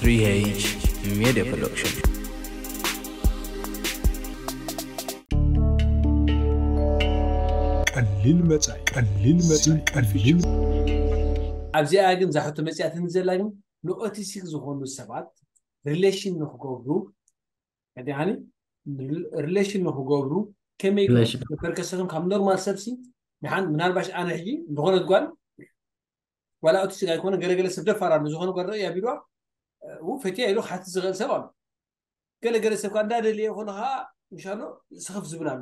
Three H Media Production. ቀሊል መጻኢ፣ ቀሊል መጻኢ፣ ቀሊል ኣብዚኣ ግን እዛ ሕቶ መጺኣትኒ ዘላ ግን ንኦቲስቲክ ዝኾኑ ሰባት ሪሌሽን ንክገብሩ፣ ቀዲሓኒ ሪሌሽን ንክገብሩ ከመይ ሪሌሽን። ፐርከሰቶም ካብ ኖርማል ሰብሲ ንሓን ምናልባሽ ኣነ ሕጂ ዝኾነት ጓል ዋላ ኦቲስቲክ ኣይኮነ ገለገለ ሰብ ደፋር ኣሎ ዝኾነ ጓል ርእያ ቢልዋ ው ፈትያ ኢሉ ክሓትት ዝኽእል ሰብ ኣሎ። ገለገለ ሰብ ከዓ እንዳደለየ ይኾነ ከዓ ምሻሎ ስኽፍ ዝብል ኣሎ።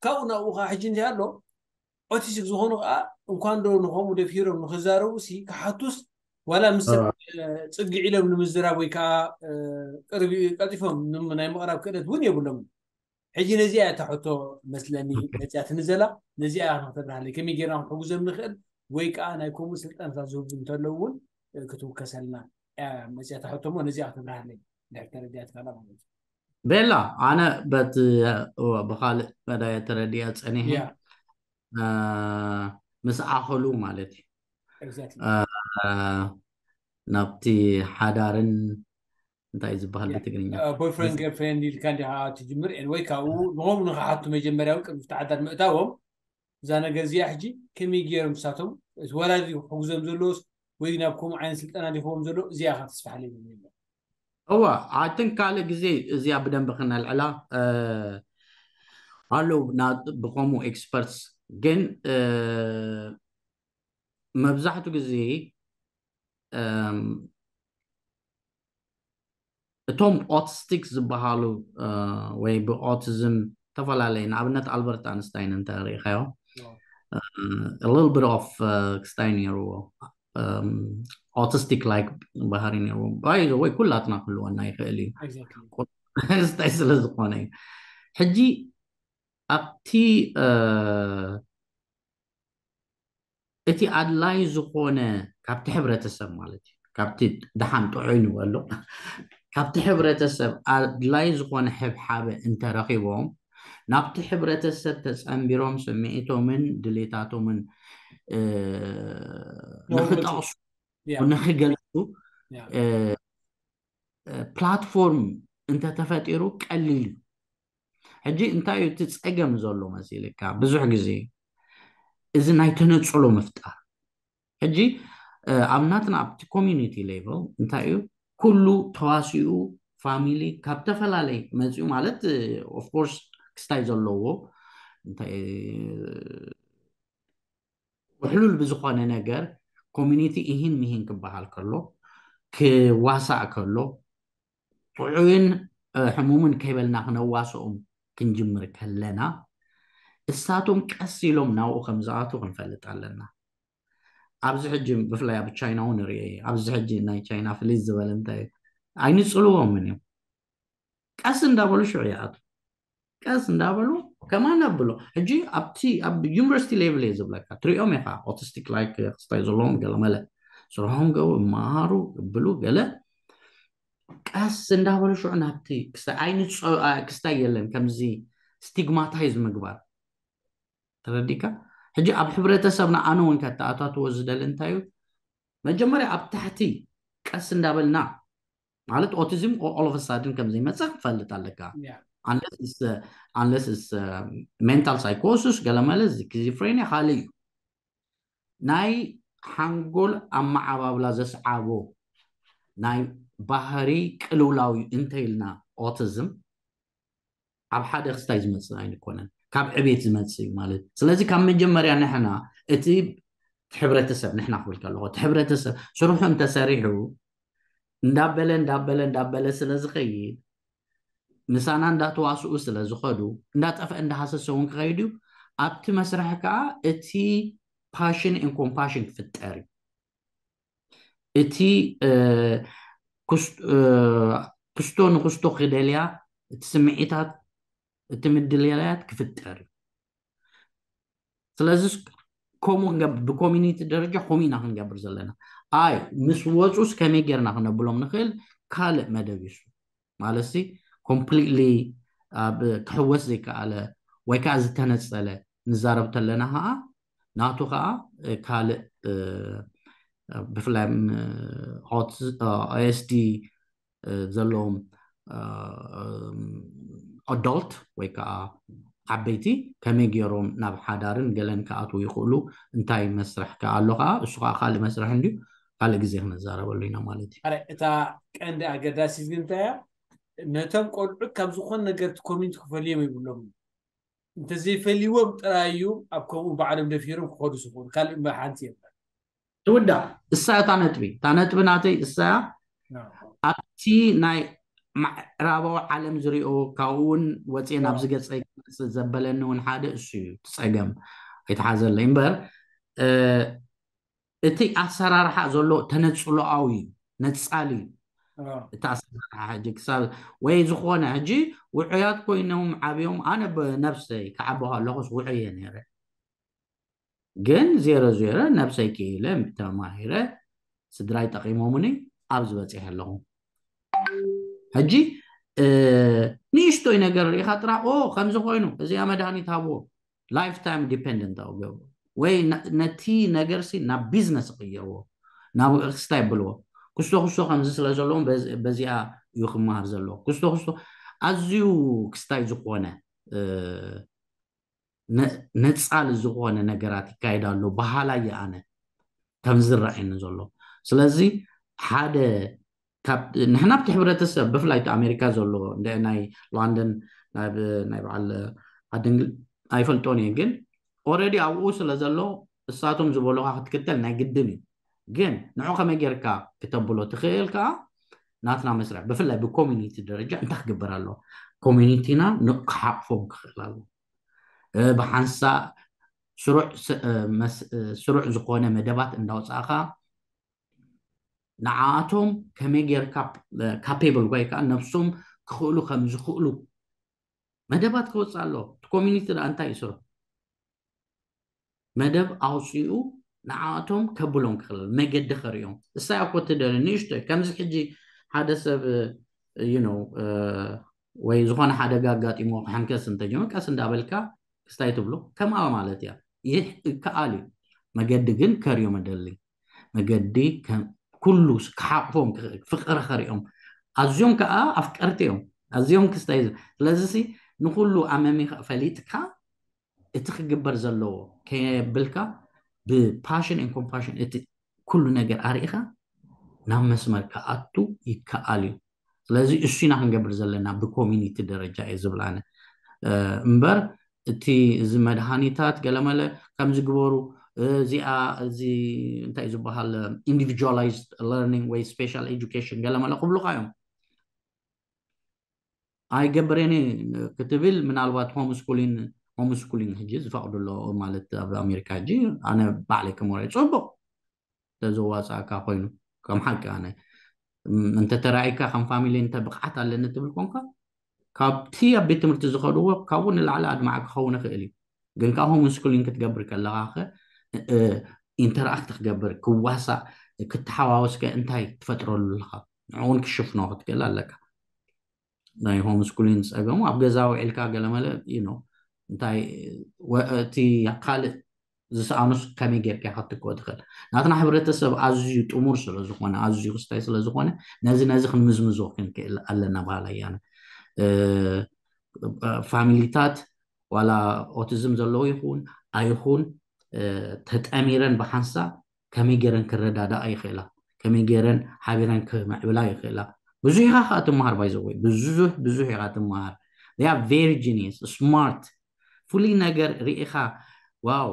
ካብኡ ናብኡ ከዓ ሕጂ እንታይ ኣሎ ኦቲስቲክ ዝኾኑ ከዓ እንኳን ዶ ንኸምኡ ደፊሮም ንክዛረቡ ሲ ክሓቱስ ዋላ ምስ ሰብ ጽግዕ ኢሎም ንምዝራብ ወይ ከዓ ቅርቢ ቀልጢፎም ንም- ናይ ምቕራብ ክእለት እውን የብሎምን። ሕጂ ነዚኣ እያ እታ ሕቶ መስለኒ መፅያትኒ ዘላ። ነዚኣ እያ ክንተብርሃለይ ከመይ ጌርና ክንሕጉዘም ንኽእል ወይ ከዓ ናይ ከምኡ ስልጠናታት ዝህቡ እንተለዉ እውን ክትውከሰልና እያ መፅያታ ሕቶ እሞ ነዚኣ ክትብርሃለይ ድሕር ተረዲኣትካላ ማለት እዩ። ቤላ ኣነ በት ብካልእ መዳየ ተረዲያ ፀኒሐ ያ እ፣ ምስ ኣኸሉ ማለት እዩ exactly እ፣ ናብቲ ሓዳርን እንታይ እዩ ዝበሃል ብትግርኛ ቦይፍሬንድ ገርፍሬንድ ኢልካ እንዲኻ ትጅምር ወይ ካብኡ ንኸምኡ ንኽሓቱ መጀመርያዊ ቅድሚ ተዓዳድ ምእታዎም እዛ ነገር እዚኣ ሕጂ ከመይ ገይሮም ንሳቶም እቲ ወላዲ ክሕግዞም ዘለዎስ ወይ ናብ ከምኡ ዓይነት ስልጠና ዲኽዎም ዘሎ እዚኣ ካ ተስፋሕለይ ዝብል እዋ ኣትን ካልእ ግዜ እዚኣ ብደንብ ክነልዕላ እ፣ ኣለዉ ና- ብከምኡ ኤክስፐርትስ ግን እ፣ መብዛሕትኡ ግዜ እም፣ እቶም ኦቲስቲክ ዝበሃሉ እ፣ ወይ ብኦቲዝም ዝተፈላለየ ንኣብነት ኣልበርት ኣንስታይን እንተ ርኢኻዮ little bit of ክስታይ ነይርዎ autistic like ባህሪ ነይርዎ by the way ኩላትና ክህልወና ይኽእል እዩ exactly ክስታይ ስለ ዝኾነ እዩ ሕጂ ኣብቲ እ፣ እቲ ኣድላይ ዝኾነ ካብቲ ሕብረተሰብ ማለት እዩ ካብቲ ደሓን ጥዑይ ንበሎ ካብቲ ሕብረተሰብ ኣድላይ ዝኾነ ሕብሓበ እንተረኺቦም ናብቲ ሕብረተሰብ ተፀንቢሮም ስምዒቶምን ድሌታቶምን እ፣ ነውርቱ። ንክጠቕሱ ያ ንክገልፁ ያ እ፣ እ፣ ፕላትፎርም እንተተፈጢሩ ቀሊል እዩ ሕጂ እንታይ እዩ እቲ ፀገም ዘሎ መሲልካ ብዙሕ ግዜ እዚ ናይ ተነፅሎ ምፍጣር ሕጂ እ፣ ኣብ ናትና ኣብቲ ኮሚኒቲ ሌቨል እንታይ እዩ ኩሉ ተዋሲኡ ፋሚሊ ካብ ተፈላለይ መፅኡ ማለት ኦፍኮርስ ክስታይ ዘለዎ እንታይ ውሕሉል ብዝኾነ ነገር ኮሚኒቲ ኢሂን ሚሂን ክበሃል ከሎ ክዋሳእ ከሎ ጥዑይን እ፣ ሕሙምን ከይበልና ክነዋስኦም ክንጅምር ከለና እሳቶም ቀስ ኢሎም ናብኡ ከም ዝኣቱ ክንፈልጥ ኣለና ኣብዚ ሕጂ ብፍላይ ኣብ ቻይና እውን ንሪኦ እዩ ኣብዚ ሕጂ ናይ ቻይና ፍልይ ዝበለ እንታይ እዩ ኣይንፅልዎምን እዮም ቀስ እንዳበሉ ሽዑ ይኣቱ ቀስ እንዳበሉ ከማን ኣብሎ ሕጂ ኣብቲ ኣብ ዩኒቨርሲቲ ሌቭል እየ ዝብለካ ትሪኦም ኢኻ ኦቲስቲክ ላይክ ክስታይ ዘለዎም ገለመለ ስርሖም ገቡ ይመሃሩ ይብሉ ገለ ቀስ እንዳበሉ ሽዑ ናብቲ ክስታይ ኣይንፀ ክስታይ የለን ከምዚ ስቲግማታይዝ ምግባር ተረዲካ ሕጂ ኣብ ሕብረተሰብና ኣነ እውን ከተኣታትዎ ዝደሊ እንታይ እዩ መጀመርያ ኣብ ታሕቲ ቀስ እንዳበልና ማለት ኦቲዝም all of a sudden ከም ዘይመፅእ ክፈልጥ ኣለካ ያ unless it's mental psychosis ገለመለ ስኪዚፍሬኒያ ካልእ እዩ ናይ ሓንጎል ኣመዓባብላ ዘስዓቦ ናይ ባህሪ ቅልውላው እዩ እንተኢልና ኦቲዝም ኣብ ሓደ ክስታይ ዝመፅእ ኣይንኮነን ካብ ዕቤት ዝመፅእ እዩ ማለት እዩ ስለዚ ካብ መጀመርያ ንሕና እቲ ሕብረተሰብ ንሕና ክብል ከለኹ እቲ ሕብረተሰብ ስርሑ እንተሰሪሑ እንዳበለ እንዳበለ እንዳበለ ስለ ዝኸይድ ምሳና እንዳተዋስኡ ስለ ዝኸዱ እንዳጠፍአ እንዳሃሰሰ እውን ክኸይድ እዩ ኣብቲ መስርሒ ከዓ እቲ ፓሽን ን ኮምፓሽን ክፍጠር እዩ እቲ እ፣ ኩስ- እ፣ ክስቶ ንክስቶ ክደልያ እቲ ስምዒታት እቲ ምድልያት ክፍጠር እዩ ስለዚ ከምኡ ክንገብር ብኮሚኒቲ ደረጃ ከምኡ ኢና ክንገብር ዘለና ኣይ ምስ ወፁስ ከመይ ጌርና ክነብሎም ንኽእል ካልእ መደብ ይሱ ማለት ሲ ኮምፕሊትሊ ኣብ ክሕወስ ዘይከኣለ ወይ ከዓ ዝተነፀለ ንዛረብ ተለና ከዓ ናቱ ከዓ ካልእ ብፍላይ ኦኤስዲ ዘለዎም ኣዶልት ወይ ከዓ ዓበይቲ ከመይ ገይሮም ናብ ሓዳርን ገለን ክኣትዉ ይኽእሉ? እንታይ መስርሕ ከ ኣሎ ከዓ? እሱ ከዓ ካልእ መስርሕ እንድዩ፣ ካልእ ግዜ ክንዛረበሉ ኢና ማለት እዩ። እታ ቀንዲ ኣገዳሲት ግን እንታይ እያ? ነቶም ቆልዑ ካብ ዝኾነ ነገር እቲ ኮሚኒቲ ክፈልዮም ይብሎም። እንተዘይፈልይዎም ጥራይ እዩ ኣብ ከምኡ ባዕሎም ደፊሮም ክኸዱ ዝኽእሉ፣ ካልእ እምበር ሓንቲ የለን። ትውዳእ እሳ እታ ነጥቢ እታ ነጥቢ ናተይ እሳ ኣብቲ ናይ ምዕራባዊ ዓለም ዝሪኦ ካብኡ እውን ወፅየ ናብዚ ገፀይ ክመፅእ ዘበለኒ እውን ሓደ እሱ እዩ። እቲ ፀገም ኣይተሓዘለይ እምበር እቲ ኣሰራርሓ ዘሎ ተነፅሎኣዊ እዩ፣ ነፃሊ እዩ። እቲ ኣሰራርሓ ሕጂ ክሳብ ወይ ዝኾነ ሕጂ ውዑያት ኮይኖም ዓብዮም ኣነ ብነብሰይ ክዓቢ ከለኹስ ውዑየ ነይረ። ግን ዜሮ ዜሮ ነብሰይ ክኢለ ተማሂረ ስድራይ ጠቂሞምኒ ኣብዚ በፂሐ ኣለኹ። ሕጂ ንእሽቶይ ነገር ርኢኻ ጥራሕ ኦ ከምዚ ኮይኑ እዚኣ መድሃኒት ሃብዎ ላይፍ ታይም ዲፔንደንት ኣው ገብሩ ወይ ነቲ ነገር ሲ ናብ ቢዝነስ ይቕይርዎ ናብ ክስታይ ብልዎ ክስቶ ክስቶ ከምዚ ስለ ዘለዎም በዚኣ እዩ ክመሃር ዘለዎ ክስቶ ክስቶ ኣዝዩ ክስታይ ዝኾነ ነፃሊ ዝኾነ ነገራት ይካየድ ኣሎ በሃላይ ኣነ ከም ዝረኣየኒ ዘሎ። ስለዚ ሓደ ንሕና ኣብቲ ሕብረተሰብ ብፍላይ እቲ ኣሜሪካ ዘሎ ናይ ሎንደን ናይ በዓል ዓዲ እንግሊዝ ኣይፈልጦን እየ ግን ኦረዲ ኣብኡ ስለ ዘሎ እሳቶም ዝበሉካ ክትክተል ናይ ግድን እዩ። ግን ንዑ ከመይ ጌርካ ክተብሎ ትኽእል ከዓ ናትና መስርሕ ብፍላይ ብኮሚኒቲ ደረጃ እንታይ ክግበር ኣለዎ? ኮሚኒቲና ክሓቕፎም ክኽእል ኣለዎ። ብሓንሳእ ስሩዕ ዝኾነ መደባት እንዳውፃእካ ንዓኣቶም ከመይ ጌርካ ካፔብል ወይ ከዓ ነብሶም ክኽእሉ ከም ዝኽእሉ መደባት ክወፅእ ኣለዎ። እቲ ኮሚኒቲ ደኣ እንታይ ይስሩ? መደብ ኣውፅኡ ንዓኣቶም ከብሎም ክኽእል መገዲ ከርእዮም እሳይ ኣኮ ትደሊ ንእሽቶይ ከምዚ ሕጂ ሓደ ሰብ you know ወይ ዝኾነ ሓደጋ ኣጋጢሞ ክሕንከስ እንተጀመ ቀስ እንዳበልካ ክስታይ ትብሎ ከምኣ ማለት እያ። ይህ ይከኣል እዩ። መገዲ ግን ከርእዮም እደሊ መገዲ ኩሉ ክሓቕፎም ፍቕሪ ከርእዮም ኣዝዮም ከዓ ኣፍቀርቲ እዮም። ኣዝዮም ክስታይ ስለዚ ንኩሉ ኣመሚኻ ፈሊጥካ እቲ ክግበር ዘለዎ ከየብልካ ብ passion and compassion እቲ ኩሉ ነገር ኣርኢኻ ናብ መስመር ክኣቱ ይከኣል እዩ። ስለዚ እሱ ኢና ክንገብር ዘለና ብ community ደረጃ እየ ዝብል ኣነ እምበር እቲ እዚ መድሃኒታት ገለመለ ከምዚ ግበሩ እዚኣ እዚ እንታይ ዝበሃል individualized learning ወይ special education ገለመለ ክብሉካ እዮም። ኣይገብሬን ክትብል ምናልባት home schooling home schooling ሕጂ ዝፈቕዱ ኣሎ ማለት ኣብ ኣሜሪካ ሕጂ ኣነ ባዕለይ ከመርኦ ፅቡቕ ተዘዋፃእካ ኮይኑ ከም ሓቂ ኣነ እንተተራእይካ ከም ፋሚሊ እንተ ብቕዓት ኣለኒ ትብል ኮንካ ካብቲ ኣብ ቤት ትምህርቲ ዝኸድዎ ካብኡ ንላዕሊ ኣድማዕ ክኸውን ይኽእል እዩ። ግን ከዓ home schooling ክትገብር ከለኻ ኢንተራክት ክገብር ክዋሳእ ክተሓዋወስከ እንታይ ትፈጥረሉ ኣለኻ ንዕውን ክሽፍኖ ክትክእል ኣለካ። ናይ home schooling ፀገሙ ኣብ ገዛ ውዒልካ ገለመለ you know እንታይ እቲ ካልእ ዝሰኣኑስ ከመይ ጌርካ ክትክኦ ትኽእል? ናትና ሕብረተሰብ ኣዝዩ ጥሙር ስለ ዝኾነ ኣዝዩ ክስታይ ስለ ዝኾነ ነዚ ነዚ ክንምዝምዞ ክንክእል ኣለና በሃላይ ኣነ። ፋሚሊታት ዋላ ኦቲዝም ዘለዎ ይኹን ኣይኹን ተጠሚረን ብሓንሳብ ከመይ ገይረን ክረዳዳኣ ይኽእላ፣ ከመይ ገይረን ሓቢረን ክምዕብላ ይኽእላ። ብዙሕ ኢኻ ከዓ ትመሃር ባይዘወይ ብዙሕ ብዙሕ ኢኻ ትመሃር። They are very genius smart ፍሉይ ነገር ርኢኻ ዋው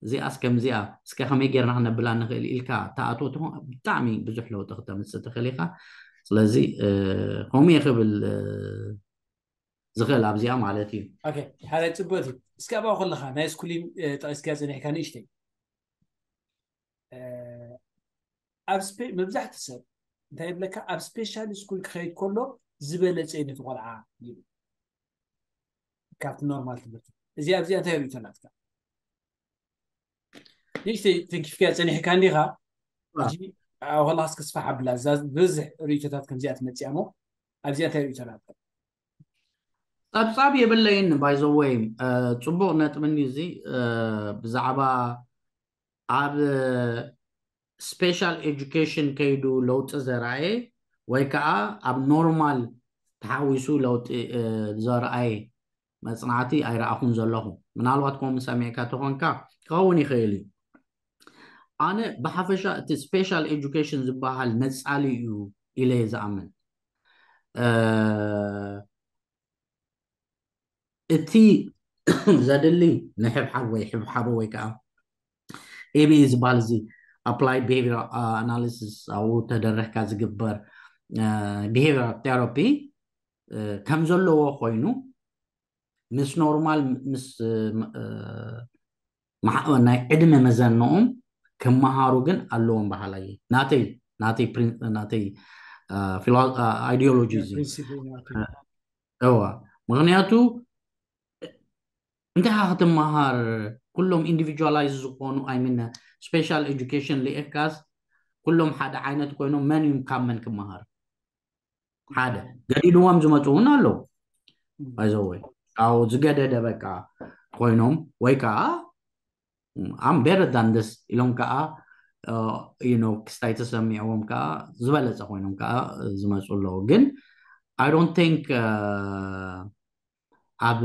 እዚኣስ ከምዚኣ እስከ ከመይ ጌርና ክነብላ ንኽእል ኢልካ ተኣትዎ ትኾን ብጣዕሚ ብዙሕ ለውጢ ክተምፅእ ትኽእል ኢኻ። ስለዚ ከምኡ እየ ክብል ዝኽእል ኣብዚኣ ማለት እዩ። ሓደ ፅቡቅ እዩ። እስኪ ኣብኣ ከለካ ናይ ስኩሊን ጠቂስካ ፀኒሕካ ንእሽተይ ኣብ መብዛሕቲ ሰብ እንታይ ይብለካ ኣብ ስፔሻል ስኩል ክኸይድ ከሎ ዝበለፀ እዩ ነቲ ቆልዓ ይብል ካብቲ ኖርማል ትምህርቲ። እዚ ኣብዚኣ እንታይ ርእይቶ ናትካ? ንእሽተይ ተንኪፍካ ፀኒሕካ እንዲኻ ኣብ ከላስ ክስፋሕ ኣብላ እዛ ብዝሕ ርእይቶታት ከምዚኣ ትመፅያ እሞ ኣብዚኣ እንታይ ርእይቶ ናትካ? ፀብፃብ የብለይን ባይዘወይ ፅቡቅ ነጥብኒ እዚ ብዛዕባ ኣብ ስፔሻል ኤጁኬሽን ከይዱ ለውጢ ዘርኣየ ወይ ከዓ ኣብ ኖርማል ተሓዊሱ ለውጢ ዘርኣየ መፅናዕቲ ኣይረኣኹን ዘለኹ። ምናልባት ከምኡ ሰሚዕካ ተኾንካ ክኸውን ይኽእል እዩ። ኣነ ብሓፈሻ እቲ ስፔሻል ኤጁኬሽን ዝበሃል ነፃሊ እዩ ኢለ እየ ዝኣምን። እቲ ዘድሊ ንሕብሓብ ወይ ሕብሓቦ ወይ ከዓ ኤቢኢ ዝበሃል እዚ ኣፕላይድ ቢሄቪራል ኣናሊሲስ ኣብኡ ተደረኽካ ዝግበር ቢሄቪራል ቴራፒ ከም ዘለዎ ኮይኑ ምስ ኖርማል ምስ ናይ ዕድመ መዘንኦም ክመሃሩ ግን ኣለዎም በሃላይ ናተይ ናተይ ናተይ ኣይዲዮሎጂ እዚ እዋ ምክንያቱ እንታይ ክትመሃር ኩሎም ኢንዲቪጁዋላይዝ ዝኾኑ ኣይሚን ስፔሻል ኤጁኬሽን ልኤካስ ኩሎም ሓደ ዓይነት ኮይኖም መን እዩ ካብ መን ክመሃር ሓደ ገዲድዎም ዝመፁ እውን ኣለዉ ባይዘወይ ካብኡ ዝገደደ በቃ ኮይኖም ወይ ከዓ I'm better than this ኢሎም ከዓ ክስታይ ተሰሚዕዎም ከዓ ዝበለፀ ኮይኖም ከዓ ዝመፁ ኣለዉ ግን I don't think ኣብ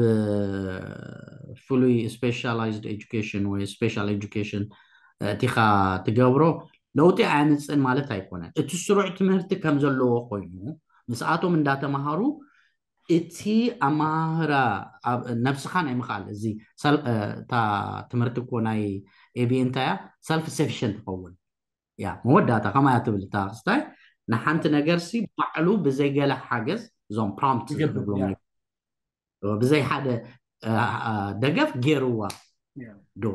ፍሉይ ስፔሻላይዝድ ኤጁኬሽን ወይ ስፔሻል ኤጁኬሽን እቲኻ ትገብሮ ለውጢ ኣያምፅእን ማለት ኣይኮነን። እቲ ስሩዕ ትምህርቲ ከም ዘለዎ ኮይኑ ምስኣቶም እንዳተምሃሩ እቲ ኣመሃህራ ነብስኻ ናይ ምኽኣል እዚ እታ ትምህርቲ እኮ ናይ ኤቢ እንታይ እያ ሰልፍ ሰፊሽንት ትኸውን ያ መወዳእታ ከማያ ትብል እታ ክስታይ ንሓንቲ ነገር ሲ ባዕሉ ብዘይገለ ሓገዝ እዞም ፕሮምፕት ዝገብሩ ብዘይ ሓደ ደገፍ ገይርዋ ዶ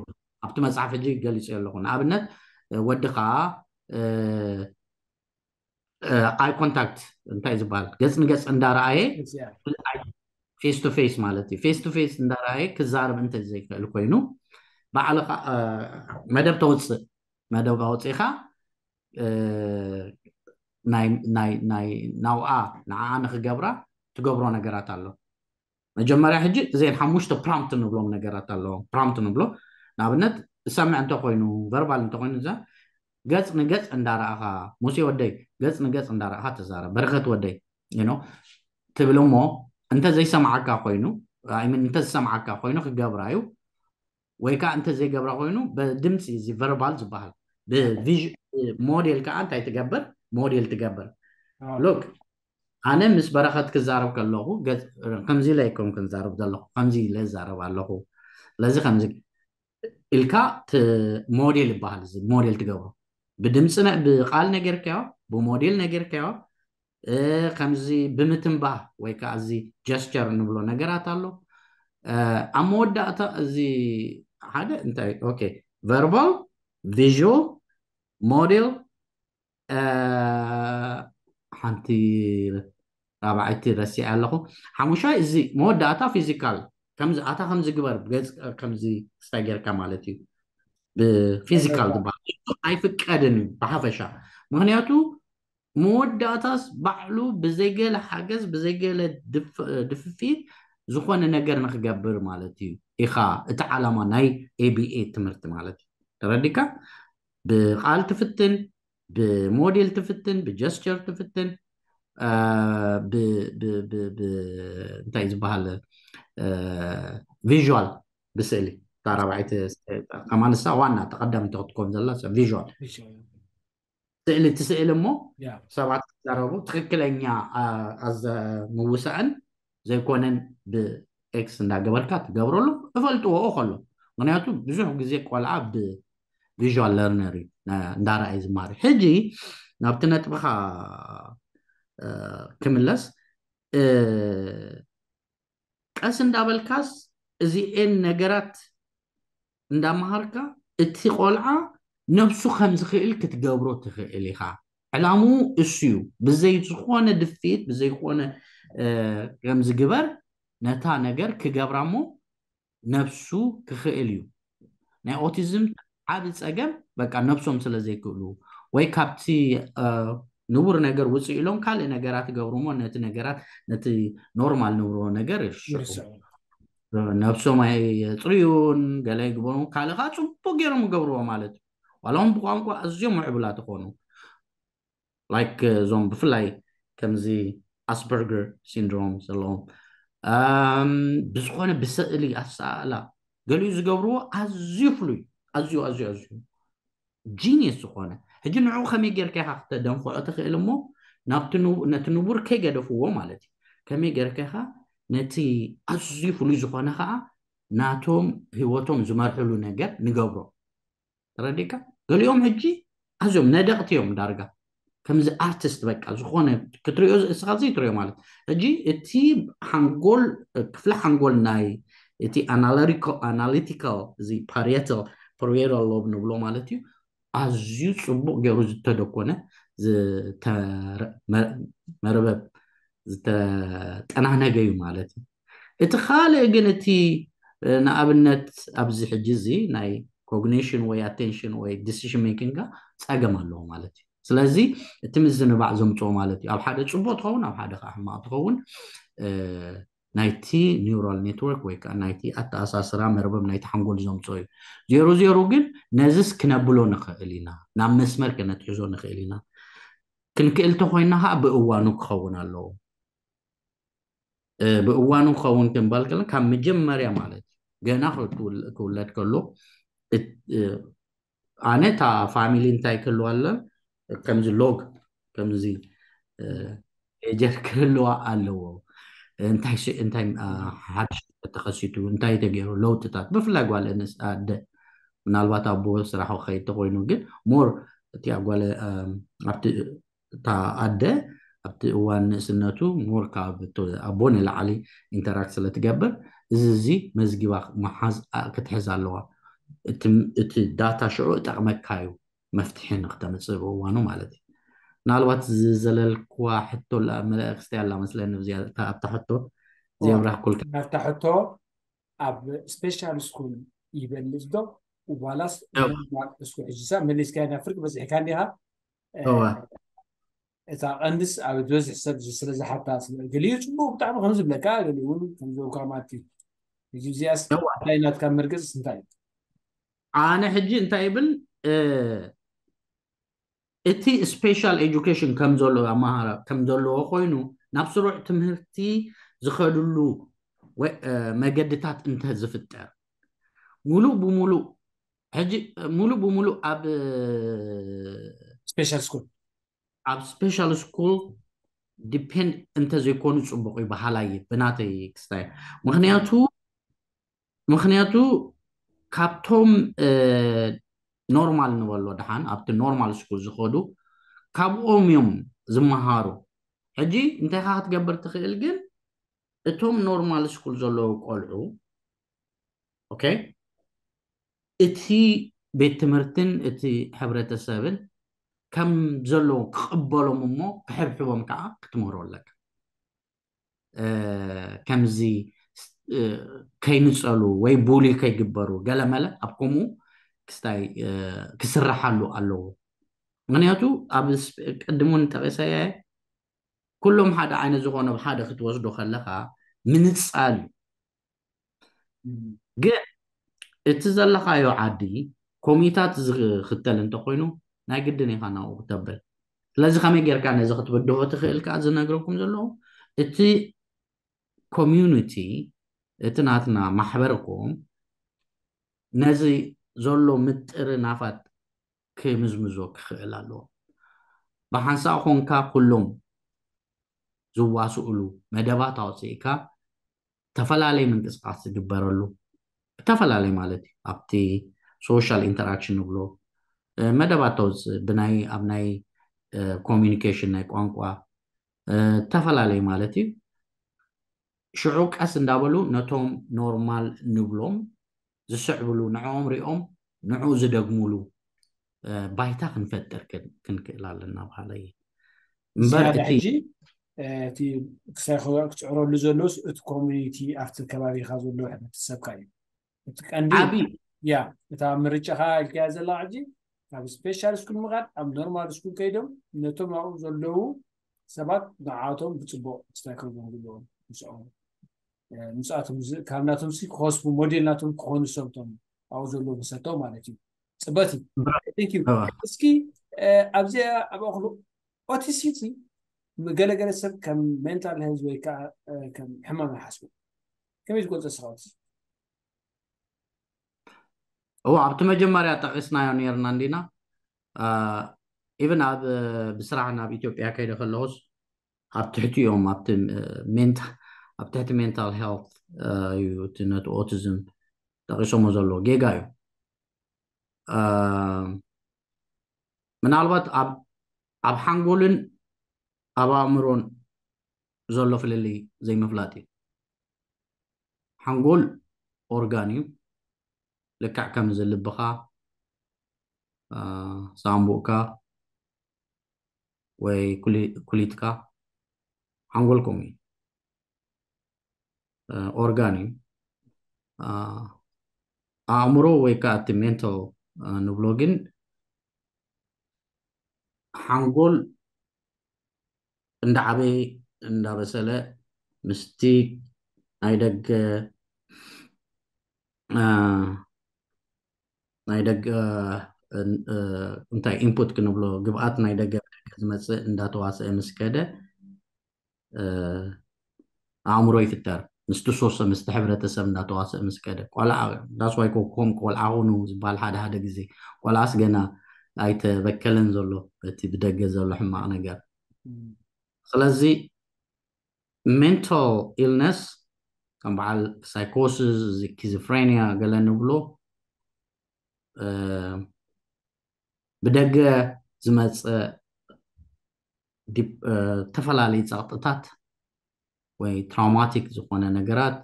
ኣብቲ መፅሓፍ ሕጂ ገሊፀ ኣለኹ ንኣብነት ወድኻ ኣይ ኮንታክት እንታይ ዝበሃል ገፅ ንገፅ እንዳረኣየ ፌስ ቱ ፌስ ማለት እዩ ፌስ ቱ ፌስ እንዳረኣየ ክዛረብ እንተ ዘይክእል ኮይኑ ባዕልኻ መደብ ተውፅእ መደብ ኣውፂእኻ ናብኣ ንዓኣ ንክገብራ ትገብሮ ነገራት ኣሎ መጀመርያ ሕጂ እዘን ሓሙሽተ ፕራምት ንብሎም ነገራት ኣለዎም ፕራምት ንብሎ ንኣብነት ዝሰምዕ እንተኮይኑ ቨርባል እንተኮይኑ እዛ ገፅ ንገፅ እንዳረኣኻ ሙሴ ወደይ ገፅ ንገፅ እንዳረኣኻ ተዛረብ በረከት ወደይ ትብል እሞ እንተ ዘይሰምዓካ ኮይኑ እንተ ዝሰምዓካ ኮይኑ ክገብራ እዩ ወይ ከዓ እንተ ዘይገብራ ኮይኑ ብድምፂ እዚ ቨርባል ዝበሃል ብሞዴል ከዓ እንታይ ትገብር ሞዴል ትገብር ሎክ ኣነ ምስ በረኸት ክዛረብ ከለኹ ከምዚ ኢለ ኣይኮን ክንዛረብ ዘለኹ ከምዚ ኢለ ዝዛረብ ኣለኹ ስለዚ ከምዚ ኢልካ ሞዴል ይበሃል እዚ ሞዴል ትገብሮ ብድምፂ ብቃል ነገርካዮ ብሞዴል ነገርካዮ ከምዚ ብምትንባህ ወይ ከዓ እዚ ጀስቸር እንብሎ ነገራት ኣሎ ኣብ መወዳእታ እዚ ሓደ እንታይ ኦኬ ቨርባል ቪዥዋል ሞዴል ሓንቲ ራብዓይቲ ረሲዐ ኣለኹ ሓሙሻይ እዚ መወዳእታ ፊዚካል ከምዚ ኣታ ከምዚ ግበር ገፅ ከምዚ ክስታይ ጌርካ ማለት እዩ ብፊዚካል ዝበሃል ኣይፍቀድን እዩ ብሓፈሻ ምክንያቱ መወዳእታስ ባዕሉ ብዘይገለ ሓገዝ ብዘይገለ ድፍፊት ዝኾነ ነገር ንክገብር ማለት እዩ ኢኻ እቲ ዓላማ ናይ ኤቢኤ ትምህርቲ ማለት እዩ ተረዲካ ብቃል ትፍትን ብሞዴል ትፍትን ብጀስቸር ትፍትን እንታይ ዝበሃል ቪዥዋል ብስእሊ ታራባዒት ከማንሳ ዋና ተቀዳሚት ክትኮን ዘላ ቪዥዋል ስእሊ ትስእል እሞ ሰባት ክዛረቡ ትክክለኛ ኣዘ ምውሳእን ዘይኮነን ብኤክስ እንዳገበርካ ትገብረሉ እፈልጥዎ ከሎ ምክንያቱ ብዙሕ ግዜ ቆልዓ ብቪዥዋል ለርነር እዩ እንዳረኣይ ዝማሪ ሕጂ ናብቲ ነጥብኻ ክምለስ ቀስ እንዳበልካስ እዚኤን ነገራት እንዳመሃርካ እቲ ቆልዓ ነብሱ ከም ዝኽእል ክትገብሮ ትኽእል ኢኻ ዕላምኡ እሱ እዩ ብዘይ ዝኾነ ድፍኢት ብዘይ ዝኾነ ከም ዝግበር ነታ ነገር ክገብራ እሞ ነብሱ ክኽእል እዩ ናይ ኦቲዝም ዓብ ፀገም በቃ ነብሶም ስለ ዘይክእሉ ወይ ካብቲ ንቡር ነገር ውፅእ ኢሎም ካልእ ነገራት ይገብሩ እሞ ነቲ ነገራት ነቲ ኖርማል ንብሮ ነገር ይርስዑ ነብሶም ኣየፅርዩን ገለ ይግበሩ ካልእ ከዓ ፅቡቅ ገይሮም ይገብርዎ ማለት እዩ ዋላ እውን ብቋንቋ ኣዝዮም ምዕቡላት ይኾኑ ላይክ እዞም ብፍላይ ከምዚ ኣስበርገር ሲንድሮም ዘለዎም ብዝኾነ ብስእሊ ኣሰኣእላ ገሊኡ ዝገብርዎ ኣዝዩ ፍሉይ ኣዝዩ ኣዝዩ ኣዝዩ ጂኒየስ ዝኾነ ሕጂ ንዕኡ ከመይ ጌርካ ኢኻ ክተደንፍዖ ትኽእል እሞ ናብቲ ነቲ ንቡር ከይገደፍዎ ማለት እዩ ከመይ ጌርካ ኢኻ ነቲ ኣዝዩ ፍሉይ ዝኾነ ከዓ ናቶም ህይወቶም ዝመርሕሉ ነገር ንገብሮ ተረዲካ ገሊኦም ሕጂ ኣዝዮም ነደቕቲ እዮም ዳርጋ ከምዚ ኣርቲስት በቃ ዝኾነ ክትሪኦ እስኻ ዘይትሪኦ ማለት ሕጂ እቲ ሓንጎል ክፍሊ ሓንጎል ናይ እቲ ኣናሊቲካል እዚ ፓሪየታል ፓሪየታል ሎብ ንብሎ ማለት እዩ ኣዝዩ ፅቡቅ ገይሩ ዝተደኮነ መርበብ ዝተጠናነገ እዩ ማለት እዩ እቲ ካልእ ግን እቲ ንኣብነት ኣብዚ ሕጂ እዚ ናይ ኮግኒሽን ወይ ኣቴንሽን ወይ ዲሲሽን ሜኪንጋ ፀገም ኣለዎ ማለት እዩ ስለዚ እቲ ምዝንባዕ ዘምፅኦ ማለት እዩ ኣብ ሓደ ፅቡቅ ትኸውን ኣብ ሓደ ከዓ ሕማቅ ትኸውን ናይቲ ኒውራል ኔትወርክ ወይ ከዓ ናይቲ ኣተኣሳስራ መርበብ ናይቲ ሓንጎል ዘምፅኦ እዩ ዜሮ ዜሮ ግን ነዚስ ክነብሎ ንኽእል ኢና ናብ መስመር ክነትሕዞ ንኽእል ኢና ክንክእል ተኮይና ከዓ ብእዋኑ ክኸውን ኣለዎ ብእዋኑ ክኸውን ክንበል ከለና ካብ መጀመርያ ማለት እዩ ገና ክውለድ ከሎ ኣነ እታ ፋሚሊ እንታይ ክህልዋ ኣሎ ከምዚ ሎግ ከምዚ ፔጀር ክህልዋ ኣለዎ እንታይ እንታይ ሓድሽ ተኸሲቱ እንታይ ተገይሩ ለውጥታት ብፍላይ ጓል ኣደ ምናልባት ኣቦ ስራሕ ክኸይድ ተኮይኑ ግን ሞር እቲ ጓል ኣብቲ እታ ኣደ ኣብቲ እዋን ንእስነቱ ሞር ካብ ኣቦ ንላዕሊ ኢንተራክት ስለትገብር እዚ እዚ መዝጊባ ክትሕዝ ኣለዋ እቲ ዳታ ሽዑ እጠቕመካ እዩ መፍትሒ ንክተምፅእ ብእዋኑ ማለት እዩ ምናልባት ዝዘለልክዋ ሕቶ መለእክስቲ ኣላ መስለኒ ኣብታ ሕቶ ዚብራህኩልካ ኣብታ ሕቶ ኣብ ስፔሻል ስኩል ይበልፅ ዶ ዋላስ ስኩል ሕጂ ሳ መሊስካ ናብ ፍርቂ በፂሕካ እንዲኻ እታ ቀንድስ ኣብ ዝበዝሕ ሰብ ስለ ዝሓታ ገሊኡ ፅቡቅ ብጣዕሚ ከም ዝብለካ ገሊኡ እውን ከም ዝብለካ ማለት እዩ ሕጂ እዚኣስ እንታይ ናትካ መርገፅስ እንታይ እዩ ኣነ ሕጂ እንታይ ይብል እቲ ስፔሻል ኤጁኬሽን ከም ዘሎ ኣማሃራ ከም ዘለዎ ኮይኑ ናብ ስሩዕ ትምህርቲ ዝኸድሉ መገድታት እንተ ዝፍጠር ሙሉእ ብሙሉእ ሕጂ ሙሉእ ብሙሉእ ኣብ ስፔሻል ስኩል ኣብ ስፔሻል ስኩል ዲፔንድ እንተዘይኮኑ ፅቡቅ እዩ በሃላይ ብናተይ ክስታይ ምክንያቱ ምክንያቱ ካብቶም ኖርማል ንበሎ ደሓን ኣብቲ ኖርማል ስኩል ዝኸዱ ካብኦም እዮም ዝመሃሩ ሕጂ እንታይ ካ ክትገብር ትኽእል ግን እቶም ኖርማል ስኩል ዘለዉ ቆልዑ ኦኬ እቲ ቤት ትምህርትን እቲ ሕብረተሰብን ከም ዘለዉ ክቕበሎም እሞ ክሕብሕቦም ከዓ ክትምህሮ ኣለካ ከምዚ ከይንፀሉ ወይ ቡሊ ከይግበሩ ገለመለ ኣብ ከምኡ ክስታይ ክስራሓሉ ኣለዎ ምክንያቱ ኣብ ቅድም እውን ጠቂሰየ ኩሎም ሓደ ዓይነት ዝኾነ ሓደ ክትወስዶ ከለካ ምንፃል እዩ ግን እቲ ዘለካዮ ዓዲ ኮሚታት ዝክተል እንተኮይኑ ናይ ግድን ኢካ ናብኡ ክተብል ስለዚ ከመይ ጌርካ ነዚ ክትብድሆ ትኽእል ከዓ ዝነግረኩም ዘለዉ እቲ ኮሚዩኒቲ እቲ ናትና ማሕበርኩም ነዚ ዘሎ ምጥርናፋት ክምዝምዞ ክኽእል ኣለዎ ብሓንሳእ ኮንካ ኩሎም ዝዋስእሉ መደባት ኣውፅእካ ተፈላለየ ምንቅስቃስ ዝግበረሉ ብተፈላለየ ማለት እዩ ኣብቲ ሶሻል ኢንተራክሽን ንብሎ መደባት ተውፅእ ብናይ ኣብ ናይ ኮሚኒኬሽን ናይ ቋንቋ ተፈላለየ ማለት እዩ ሽዑ ቀስ እንዳበሉ ነቶም ኖርማል ንብሎም ዝስዕብሉ ንዕኦም ሪኦም ንዕኡ ዝደግሙሉ ባይታ ክንፈጥር ክንክእል ኣለና በሃለ እየ እምበር ዝያዳ እቲ ሕጂ እቲ ክሳይ ክፅዕረሉ ዘለውስ እቲ ኮሚኒቲ ኣብቲ ከባቢካ ዘለዎ ሕብረተሰብካ እዩ እቲ ቀንዲ ዓብዪ ያ እታ ምርጫኻ ኢልካያ ዘላ ሕጂ ካብ ስፔሻል ስኩል ምኻድ ኣብ ኖርማል ስኩል ከይዶም ነቶም ኣብኡ ዘለዉ ሰባት ንዓቶም ብፅቡቅ ክስታይ ክህልዎም ዘለዎም ምስኦም ምስኣቶም ካብ ናቶም ሲ ክኸስቡ ሞዴል ናቶም ክኾኑ ሰብቶም ኣብኡ ዘለዉ መሰቶም ማለት እዩ ፅበት እዩ እስኪ ኣብዚኣ ኣብ ኣክሉ ኦቲሲቲ ገለገለ ሰብ ከም ሜንታል ሄልዝ ወይ ከዓ ከም ሕማም ይሓስቡ። ከመይ ትገልጾ ስኻውስ? እዎ፣ ኣብቲ መጀመርያ ጠቂስናዮ ነርና እንዲና። ኢቨን ኣብ ብስራሕ ናብ ኢትዮጵያ ከይደ ከለኹስ ኣብ ትሕቲ እዮም ኣብቲ ሜንታ ኣብ ትሕቲ ሜንታል ሄልት እዩ እቲ ነቲ ኦቲዝም ጠቂሶሞ ዘሎ። ጌጋ እዩ። ምናልባት ኣብ ሓንጎልን ኣብ ኣእምሮን ዘሎ ፍልልይ ዘይምፍላጥ እዩ። ሓንጎል ኦርጋን እዩ። ልክዕ ከምዚ ልብኻ፣ ሳምቡእካ ወይ ኩሊትካ፣ ሓንጎል ከምኡ እዩ። ኦርጋን እዩ። ኣእምሮ ወይ ከዓ እቲ ሜንታል ንብሎ ግን ሓንጎል እንዳዓበየ እንዳበሰለ ምስቲ ናይ ደገ ናይ ደገ እንታይ ኢንፑት ክንብሎ፣ ግብኣት ናይ ደገ ዝመፅእ እንዳተዋሰአ ምስ ከደ ኣእምሮ ይፍጠር። ምስቲ ሶሰ ምስቲ ሕብረተሰብ እንዳተዋሰአ ምስ ከደ ቆልዓ ዳስዋይ ኮም ቆልዓ ኹኑ ዝበሃል ሓደ ሓደ ግዜ ቆልዓስ ገና ኣይተበከለን ዘሎ እቲ ብደገ ዘሎ ሕማቕ ነገር። ስለዚ ሜንታል ኢልነስ ከም በዓል ሳይኮሲስ፣ ስኪዞፍሬኒያ ገለ ንብሎ ብደገ ዝመፀ ዝተፈላለዩ ፀቕጥታት ወይ ትራውማቲክ ዝኾነ ነገራት፣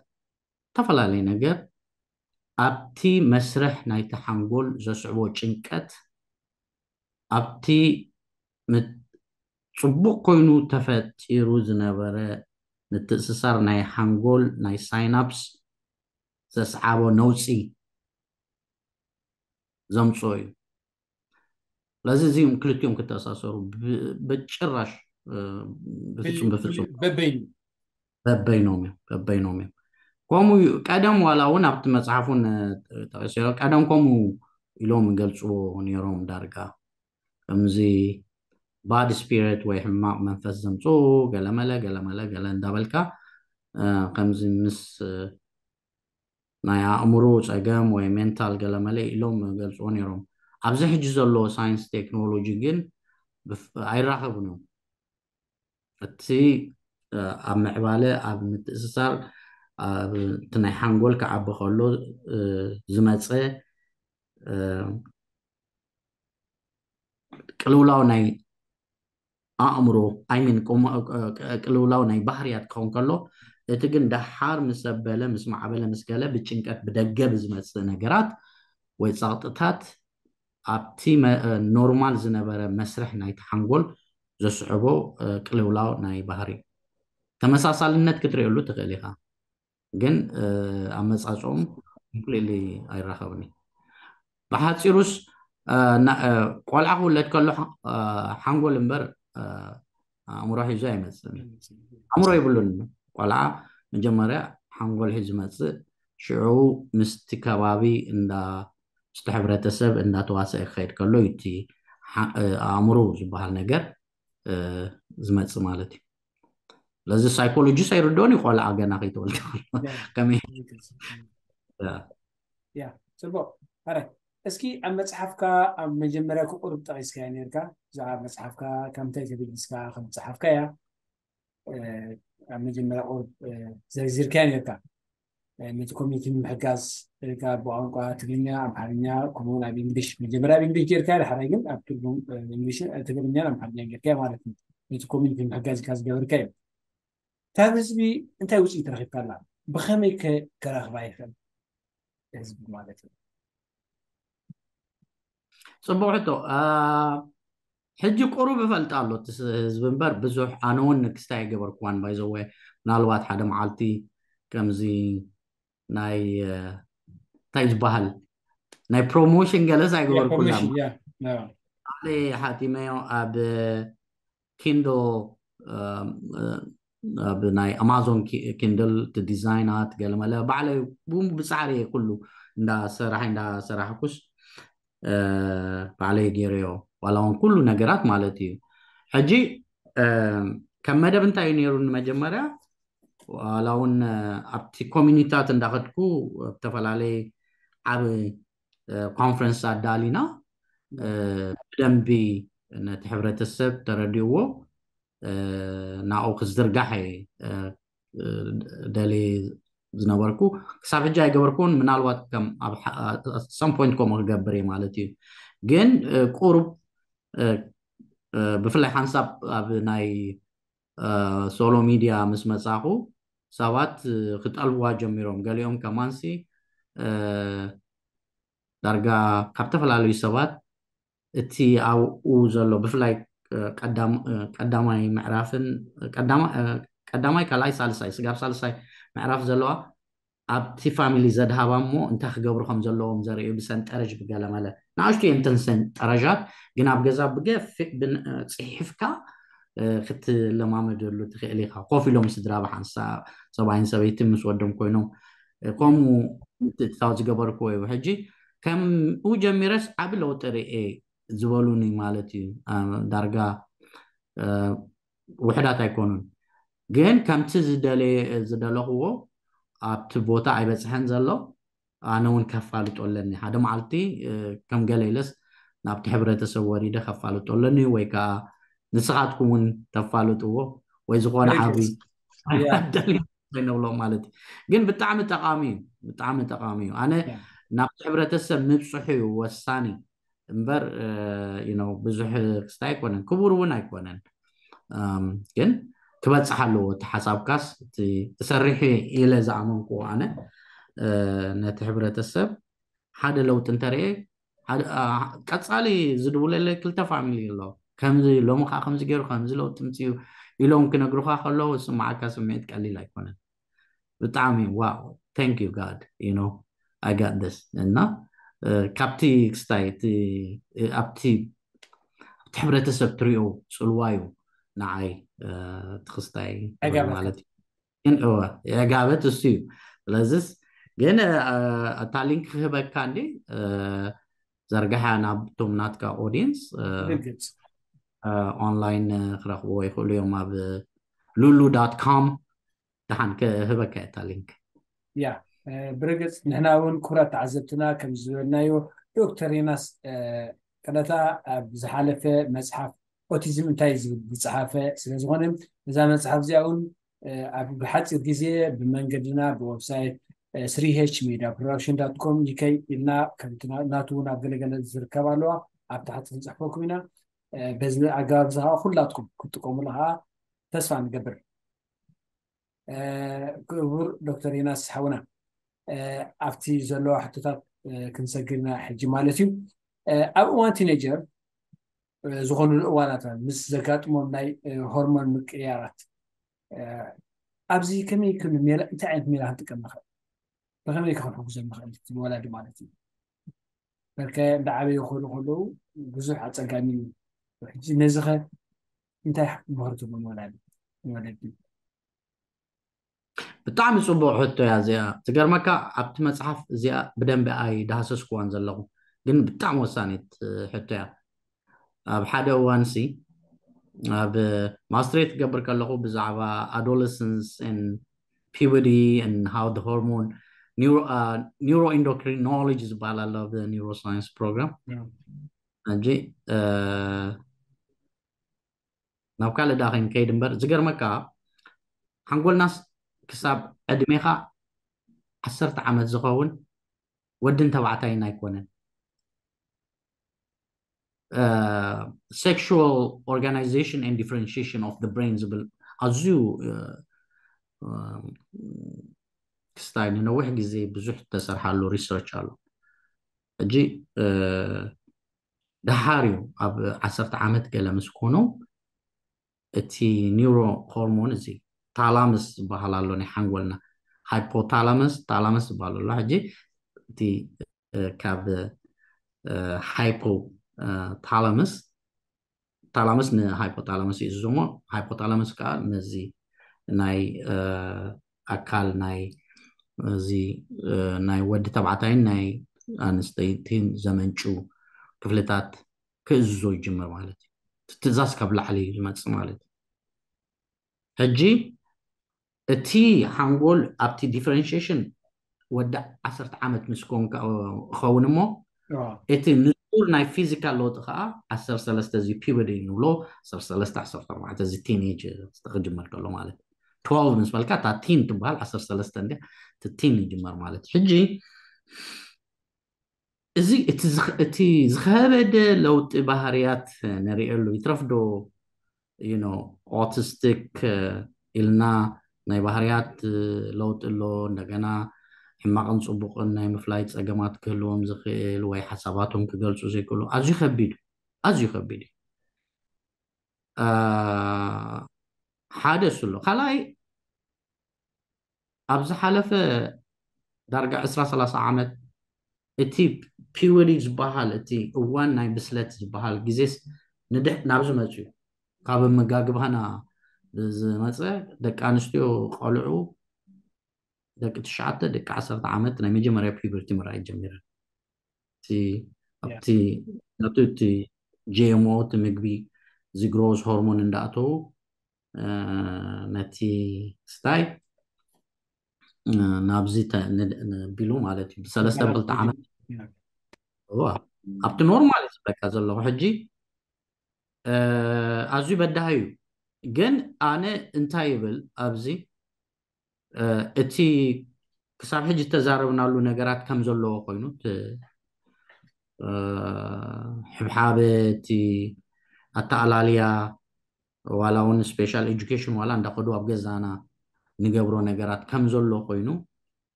ዝተፈላለዩ ነገር ኣብቲ መስርሕ ናይቲ ሓንጎል ዘስዕቦ ጭንቀት፣ ኣብቲ ጽቡቕ ኮይኑ ተፈጢሩ ዝነበረ ምትእስሳር ናይ ሓንጎል ናይ ሳይናፕስ ዘስዓቦ ነውጺ ዘምጽኦ እዩ። ስለዚ እዚም ክልቲኦም ክተኣሳሰሩ ብጭራሽ ብፍጹም ብፍጹም በበይኑ በበይኖም እዮም በበይኖም እዮም። ከምኡ እዩ። ቀደም ዋላ እውን ኣብቲ መፅሓፉን ጠቂሰ ቀደም ከምኡ ኢሎም ይገልፅዎ ነይሮም። ዳርጋ ከምዚ ባድ ስፒሪት ወይ ሕማቕ መንፈስ ዘምፅኡ ገለመለ ገለመለ ገለ እንዳበልካ ከምዚ ምስ ናይ ኣእምሮ ፀገም ወይ ሜንታል ገለመለ ኢሎም ገልፅዎ ነይሮም። ኣብዚ ሕጂ ዘሎ ሳይንስ ቴክኖሎጂ ግን ኣይራኸቡን እዮም። እቲ ኣብ ምዕባለ ኣብ ምትእስሳር እቲ ናይ ሓንጎል ክዓቢ ከሎ ዝመፀ ቅልውላው ናይ ኣእምሮ ኣይሚን ቅልውላው ናይ ባህርያት ክኸውን ከሎ እቲ ግን ደሓር ምስ ኣበለ ምስ ማዕበለ ምስ ገለ ብጭንቀት ብደገ ብዝመፅእ ነገራት ወይ ፀቕጥታት ኣብቲ ኖርማል ዝነበረ መስርሕ ናይቲ ሓንጎል ዘስዕቦ ቅልውላው ናይ ባህሪ ተመሳሳልነት ክትርእየሉ ትኽእል ኢኻ። ግን ኣመፃፅኦም ኮምፕሊትሊ ኣይራኸብን እዩ። ብሓፂሩስ ቆልዓ ክውለድ ከሎ ሓንጎል እምበር ኣእምሮ ሒዙ ኣይመፅእን። ኣእምሮ የብሉን። ቆልዓ መጀመርያ ሓንጎል ሒዙ ዝመፅእ ሽዑ ምስቲ ከባቢ እንዳ ምስቲ ሕብረተሰብ እንዳተዋሰአ ክኸይድ ከሎ እዩ እቲ ኣእምሮ ዝበሃል ነገር ዝመፅእ ማለት እዩ። ስለዚ ሳይኮሎጂስት ኣይርድኦን እዩ ቆልዓ ገና ከይተወልደ ከመይ ያ ጽቡቅ። ኣረ እስኪ ኣብ መጽሓፍካ ኣብ መጀመርያ ቁሩብ ጠቂስካያ ነርካ ብዛዕባ መጽሓፍካ ከምታይ ተበጊስካ ከም ዝጸሓፍካያ ኣብ መጀመርያ ቁሩብ ዘርዚርካያ ነርካ። ነቲ ኮሚኒቲ ንምሕጋዝ ኢልካ ብቋንቋ ትግርኛ ኣምሓርኛ ከምኡውን ኣብ እንግሊሽ መጀመርያ ኣብ እንግሊሽ ጌርካ ድሓራይ ግን ኣብ ትርጉም እንግሊሽ ትግርኛን ኣምሓርኛ ጌርካ ማለት እዩ። ነቲ ኮሚኒቲ ንምሕጋዝ ኢልካ ዝገበርካ እዩ። ካብ ህዝቢ እንታይ ውፅኢት ረኺብካ ኣላ? ብኸመይ ከ ከራኽባ ይኽእል ህዝቢ ማለት እዩ? ፅቡቅ ሕቶ። ሕጂ ቁሩብ እፈልጥ ኣሎ እቲ ህዝቢ እምበር ብዙሕ ኣነ እውን ንክስታይ ኣይገበርኩዋን ባይዘወ ምናልባት ሓደ መዓልቲ ከምዚ ናይ እንታይ ዝበሃል ናይ ፕሮሞሽን ገለስ ኣይገበርኩላ። ባዕለይ ሓቲመዮ ኣብ ኪንዶ ኣብ ናይ ኣማዞን ኪንድል እቲ ዲዛይናት ገለመለ ባዕለይ ብጻዕሪ ኩሉ እንዳሰራሕ እንዳሰራሕኩስ ባዕለይ ገይረዮ ዋላ እውን ኩሉ ነገራት ማለት እዩ። ሕጂ ከም መደብ እንታይ እዩ ነይሩ? ንመጀመርያ ዋላ እውን ኣብቲ ኮሚኒታት እንዳኸድኩ ኣብ ዝተፈላለየ ዓብ ኮንፈረንስ ኣዳሊና ብደንቢ ነቲ ሕብረተሰብ ተረዲእዎ ናብኡ ክዝርጋሕ ደልየ ዝነበርኩ። ክሳብ ሕጂ ኣይገበርኩን። ምናልባት ከም ኣብ some point ከምኡ ክገብር እየ ማለት እዩ። ግን ቁሩብ ብፍላይ ሓንሳብ ኣብ ናይ ሶሎ ሚድያ ምስ መጻኹ ሰባት ክጠልብዋ ጀሚሮም። ገሊኦም ከማንሲ ዳርጋ ካብ ዝተፈላለዩ ሰባት እቲ ኣብኡ ዘሎ ብፍላይ ቀዳማይ ምዕራፍን ቀዳማይ ካልኣይ ሳልሳይ ስጋብ ሳልሳይ ምዕራፍ ዘለዋ ኣብቲ ፋሚሊ ዘድሃባ እሞ እንታይ ክገብሩ ከም ዘለዎም ዘርእዩ ብሰንጠረዥ ብገለመለ ንኣሽቱ እየን እተን ሰንጠረዣት። ግን ኣብ ገዛ ብገፊሕ ጽሒፍካ ክትለማመደሉ ትኽእል ኢኻ። ኮፍ ኢሎም ስድራ ብሓንሳብ ሰብኣይን ሰበይትን ምስ ወዶም ኮይኖም ከምኡ ምትእትታው ዝገበርክዎ እዩ። ሕጂ ከምኡ ጀሚረስ ዓቢ ለውጢ ርእየ ዝበሉኒ ማለት እዩ። ዳርጋ ውሕዳት ኣይኮኑን፣ ግን ከምቲ ዝደለኽዎ ኣብቲ ቦታ ኣይበፅሐን ዘሎ። ኣነ እውን ከፋልጦ ኣለኒ። ሓደ መዓልቲ ከም ገለ ኢለስ ናብቲ ሕብረተሰብ ወሪደ ከፋልጦ ኣለኒ፣ ወይ ከዓ ንስኻትኩም እውን ተፋልጥዎ ወይ ዝኾነ ዓብይ ነብሎም ማለት እዩ። ግን ብጣዕሚ ጠቃሚ እዩ፣ ብጣዕሚ ጠቃሚ እዩ። ኣነ ናብቲ ሕብረተሰብ ምብፅሑ እዩ ወሳኒ እምበር ብዙሕ ክስታይ ኣይኮነን፣ ክቡር እውን ኣይኮነን። ግን ክበፅሕ ኣለዎ እቲ ሓሳብካስ፣ እቲ እሰርሕ ኢለ ዝኣመንክዎ ኣነ ነቲ ሕብረተሰብ ሓደ ለውጢ እንተርኤ ቀፃሊ ዝድውለለ ክልተ ፋሚሊ ኣሎ። ከምዚ ሎሚ ከዓ ከምዚ ገይሩ ከምዚ ለውጢ ምፅኡ ኢሎም ክነግሩካ ከለዉ ዝስማዓካ ስምዒት ቀሊል ኣይኮነን። ብጣዕሚ wow, thank you God, you know, I got this። እና ካብቲ ክስታይ ኣብቲ ኣብቲ ሕብረተሰብ ትሪኦ ፅልዋ እዩ ንዓይ እቲ ክስታይ ማለት እዩ። የጋበት እሱ እዩ። ስለዚስ ግን እታ ሊንክ ክህበካ እንዲ ዘርግሓ ናብቶም ናትካ ኦዲየንስ ኦንላይን ክረኽብዎ ይኽእሉ እዮም። ኣብ ሉሉ ዳት ኮም ደሓን ክህበካ እታ ሊንክ። ያ ብርግፅ ንሕና እውን ክቡራት ተዓዘብትና ከም ዝበልናዮ ዶክተር ዮናስ ቀደታ ኣብ ዝሓለፈ መፅሓፍ ኦቲዝም እንታይ ዝብል ዝፀሓፈ ስለዝኾነ እዛ መፅሓፍ እዚኣ እውን ኣብ ሓፂር ግዜ ብመንገድና ብወብሳይት ስሪሄች ሜድያ ፕሮዳክሽን ዳት ኮም ዩከይ ኢልና ከምቲ ናቱ እውን ኣብ ገለገለ ዝርከብ ኣለዋ ኣብ ታሕቲ ክንፅሕፈኩም ኢና። በዚ ኣገባብ እዚ ከዓ ኩላትኩም ክትጥቀሙሉ ከዓ ተስፋ ንገብር። ክቡር ዶክተር ዮናስ ሓውና ኣብቲ ዘለዋ ሕቶታት ክንሰግርና ሕጂ ማለት እዩ። ኣብ እዋን ቲኔጀር ዝኾኑሉ እዋናት ምስ ዘጋጥሞም ናይ ሆርሞን ምቅያራት ኣብዚ ከመይ ክን ሜላ እንታይ ዓይነት ሜላ ክንጥቀም ንኽእል? ብኸመይ ክንሕግዞም ንኽእል ወላዲ ማለት እዩ? በርከ እንዳዓበዩ ክኸዱ ከለዉ ብዙሕ ኣፀጋሚ እዩ። ሕጂ ነዚ ኸ እንታይ ምኽሪ ትህቡ ንወላዲ ንወለዲ? ብጣዕሚ ፅቡቅ ሕቶ እያ እዚኣ። ዝገርመካ ኣብቲ መፅሓፍ እዚኣ ብደንቢ ኣይዳህሰስክዋን ዘለኹ፣ ግን ብጣዕሚ ወሳኒት ሕቶ እያ። ኣብ ሓደ እዋን ሲ ኣብ ማስትሬት ክገብር ከለኹ ብዛዕባ adolescence and puberty and how the hormone neuroendocrinology ዝበሃል ኣሎ ኣብ neuroscience program ሕጂ ናብ ካልእ ዳ ከይንከይድ እምበር ዝገርመካ ሓንጎልናስ ክሳብ ዕድሜኻ ዓሰርተ ዓመት ዝኸውን ወድን ተባዕታይን ኣይኮነን። Sexual organization and differentiation of the brain ዝብል ኣዝዩ ክስታይ ንነዊሕ ግዜ ብዙሕ ተሰርሓሉ ሪሰርች ኣሎ። ሕጂ ደሓር እዩ ኣብ ዓሰርተ ዓመት ገለ ምስ ኮኑ እቲ ኒውሮ ሆርሞን እዚ ታላመስ ዝበሃል ኣሎ ናይ ሓንጎልና ሃይፖታላመስ ታላመስ ዝበሃል ኣሎ። ሕጂ እቲ ካብ ሃይፖታላመስ ታላመስ ንሃይፖታላመስ ይእዝዞሞ ሃይፖታላመስ ከዓ ነዚ ናይ ኣካል ናይ እዚ ናይ ወዲ ተባዕታይን ናይ ኣንስተይቲን ዘመንጩ ክፍልታት ክእዝዞ ይጅምር ማለት እዩ። ትእዛዝ ካብ ላዕሊ እዩ ዝመፅእ ማለት እዩ። ሕጂ እቲ ሓንጎል ኣብቲ ዲፈረንሽሽን ወዲ ዓሰርተ ዓመት ምስ ኮንካ ክኸውን እሞ እቲ ንጹር ናይ ፊዚካል ለውጢ ከዓ ዓሰርተ ሰለስተ እዚ ፒበዲ ንብሎ ዓሰርተ ሰለስተ ዓሰርተ ኣርባዕተ እዚ ቲኔጅ ክጅመር ከሎ ማለት twelve ምስ በልካ እታ ቲን ትበሃል ዓሰርተ ሰለስተ እንዲ እቲ ቲን ይጅመር ማለት ሕጂ እዚ እቲ ዝኸበደ ለውጢ ባህርያት ንሪእሉ ይትረፍዶ ኦቲስቲክ ኢልና ናይ ባህርያት ለውጢ ኣሎ እንደገና ሕማቕን ፅቡቕን ናይ ምፍላይ ፀገማት ክህልዎም ዝኽእል ወይ ሓሳባቶም ክገልፁ ዘይክእሉ ኣዝዩ ከቢድ ኣዝዩ ከቢድ ሓደ እሱ ኣሎ ካልኣይ ኣብ ዝሓለፈ ዳርጋ ዕስራ ሰላሳ ዓመት እቲ ፒወዲ ዝበሃል እቲ እዋን ናይ ብስለት ዝበሃል ግዜስ ንድሕ ናብዚ መፅዩ ካብ መጋግባና ዝመፀ ደቂ ኣንስትዮ ቆልዑ ደቂ ትሽዓተ ደቂ ዓሰርተ ዓመት ናይ መጀመርያ ፒበርቲ ምርኣይ ጀሚረን እቲ ኣብቲ ነቱ እቲ ጂኤምኦ እቲ ምግቢ እዚ ግሮዝ ሆርሞን እንዳእተዉ ነቲ ስታይ ናብዚ ቢሉ ማለት እዩ ብሰለስተ ብክልተ ዓመት ኣብቲ ኖርማል እዩ ዝበካ ዘለኹ ሕጂ ኣዝዩ በዳህ እዩ ግን ኣነ እንታይ ይብል ኣብዚ እቲ ክሳብ ሕጂ ዝተዛረብናሉ ነገራት ከም ዘለዎ ኮይኑ ሕብሓበ እቲ ኣተኣላልያ ዋላ እውን ስፔሻል ኤጁኬሽን ዋላ እንዳኸዱ ኣብ ገዛና ንገብሮ ነገራት ከም ዘሎ ኮይኑ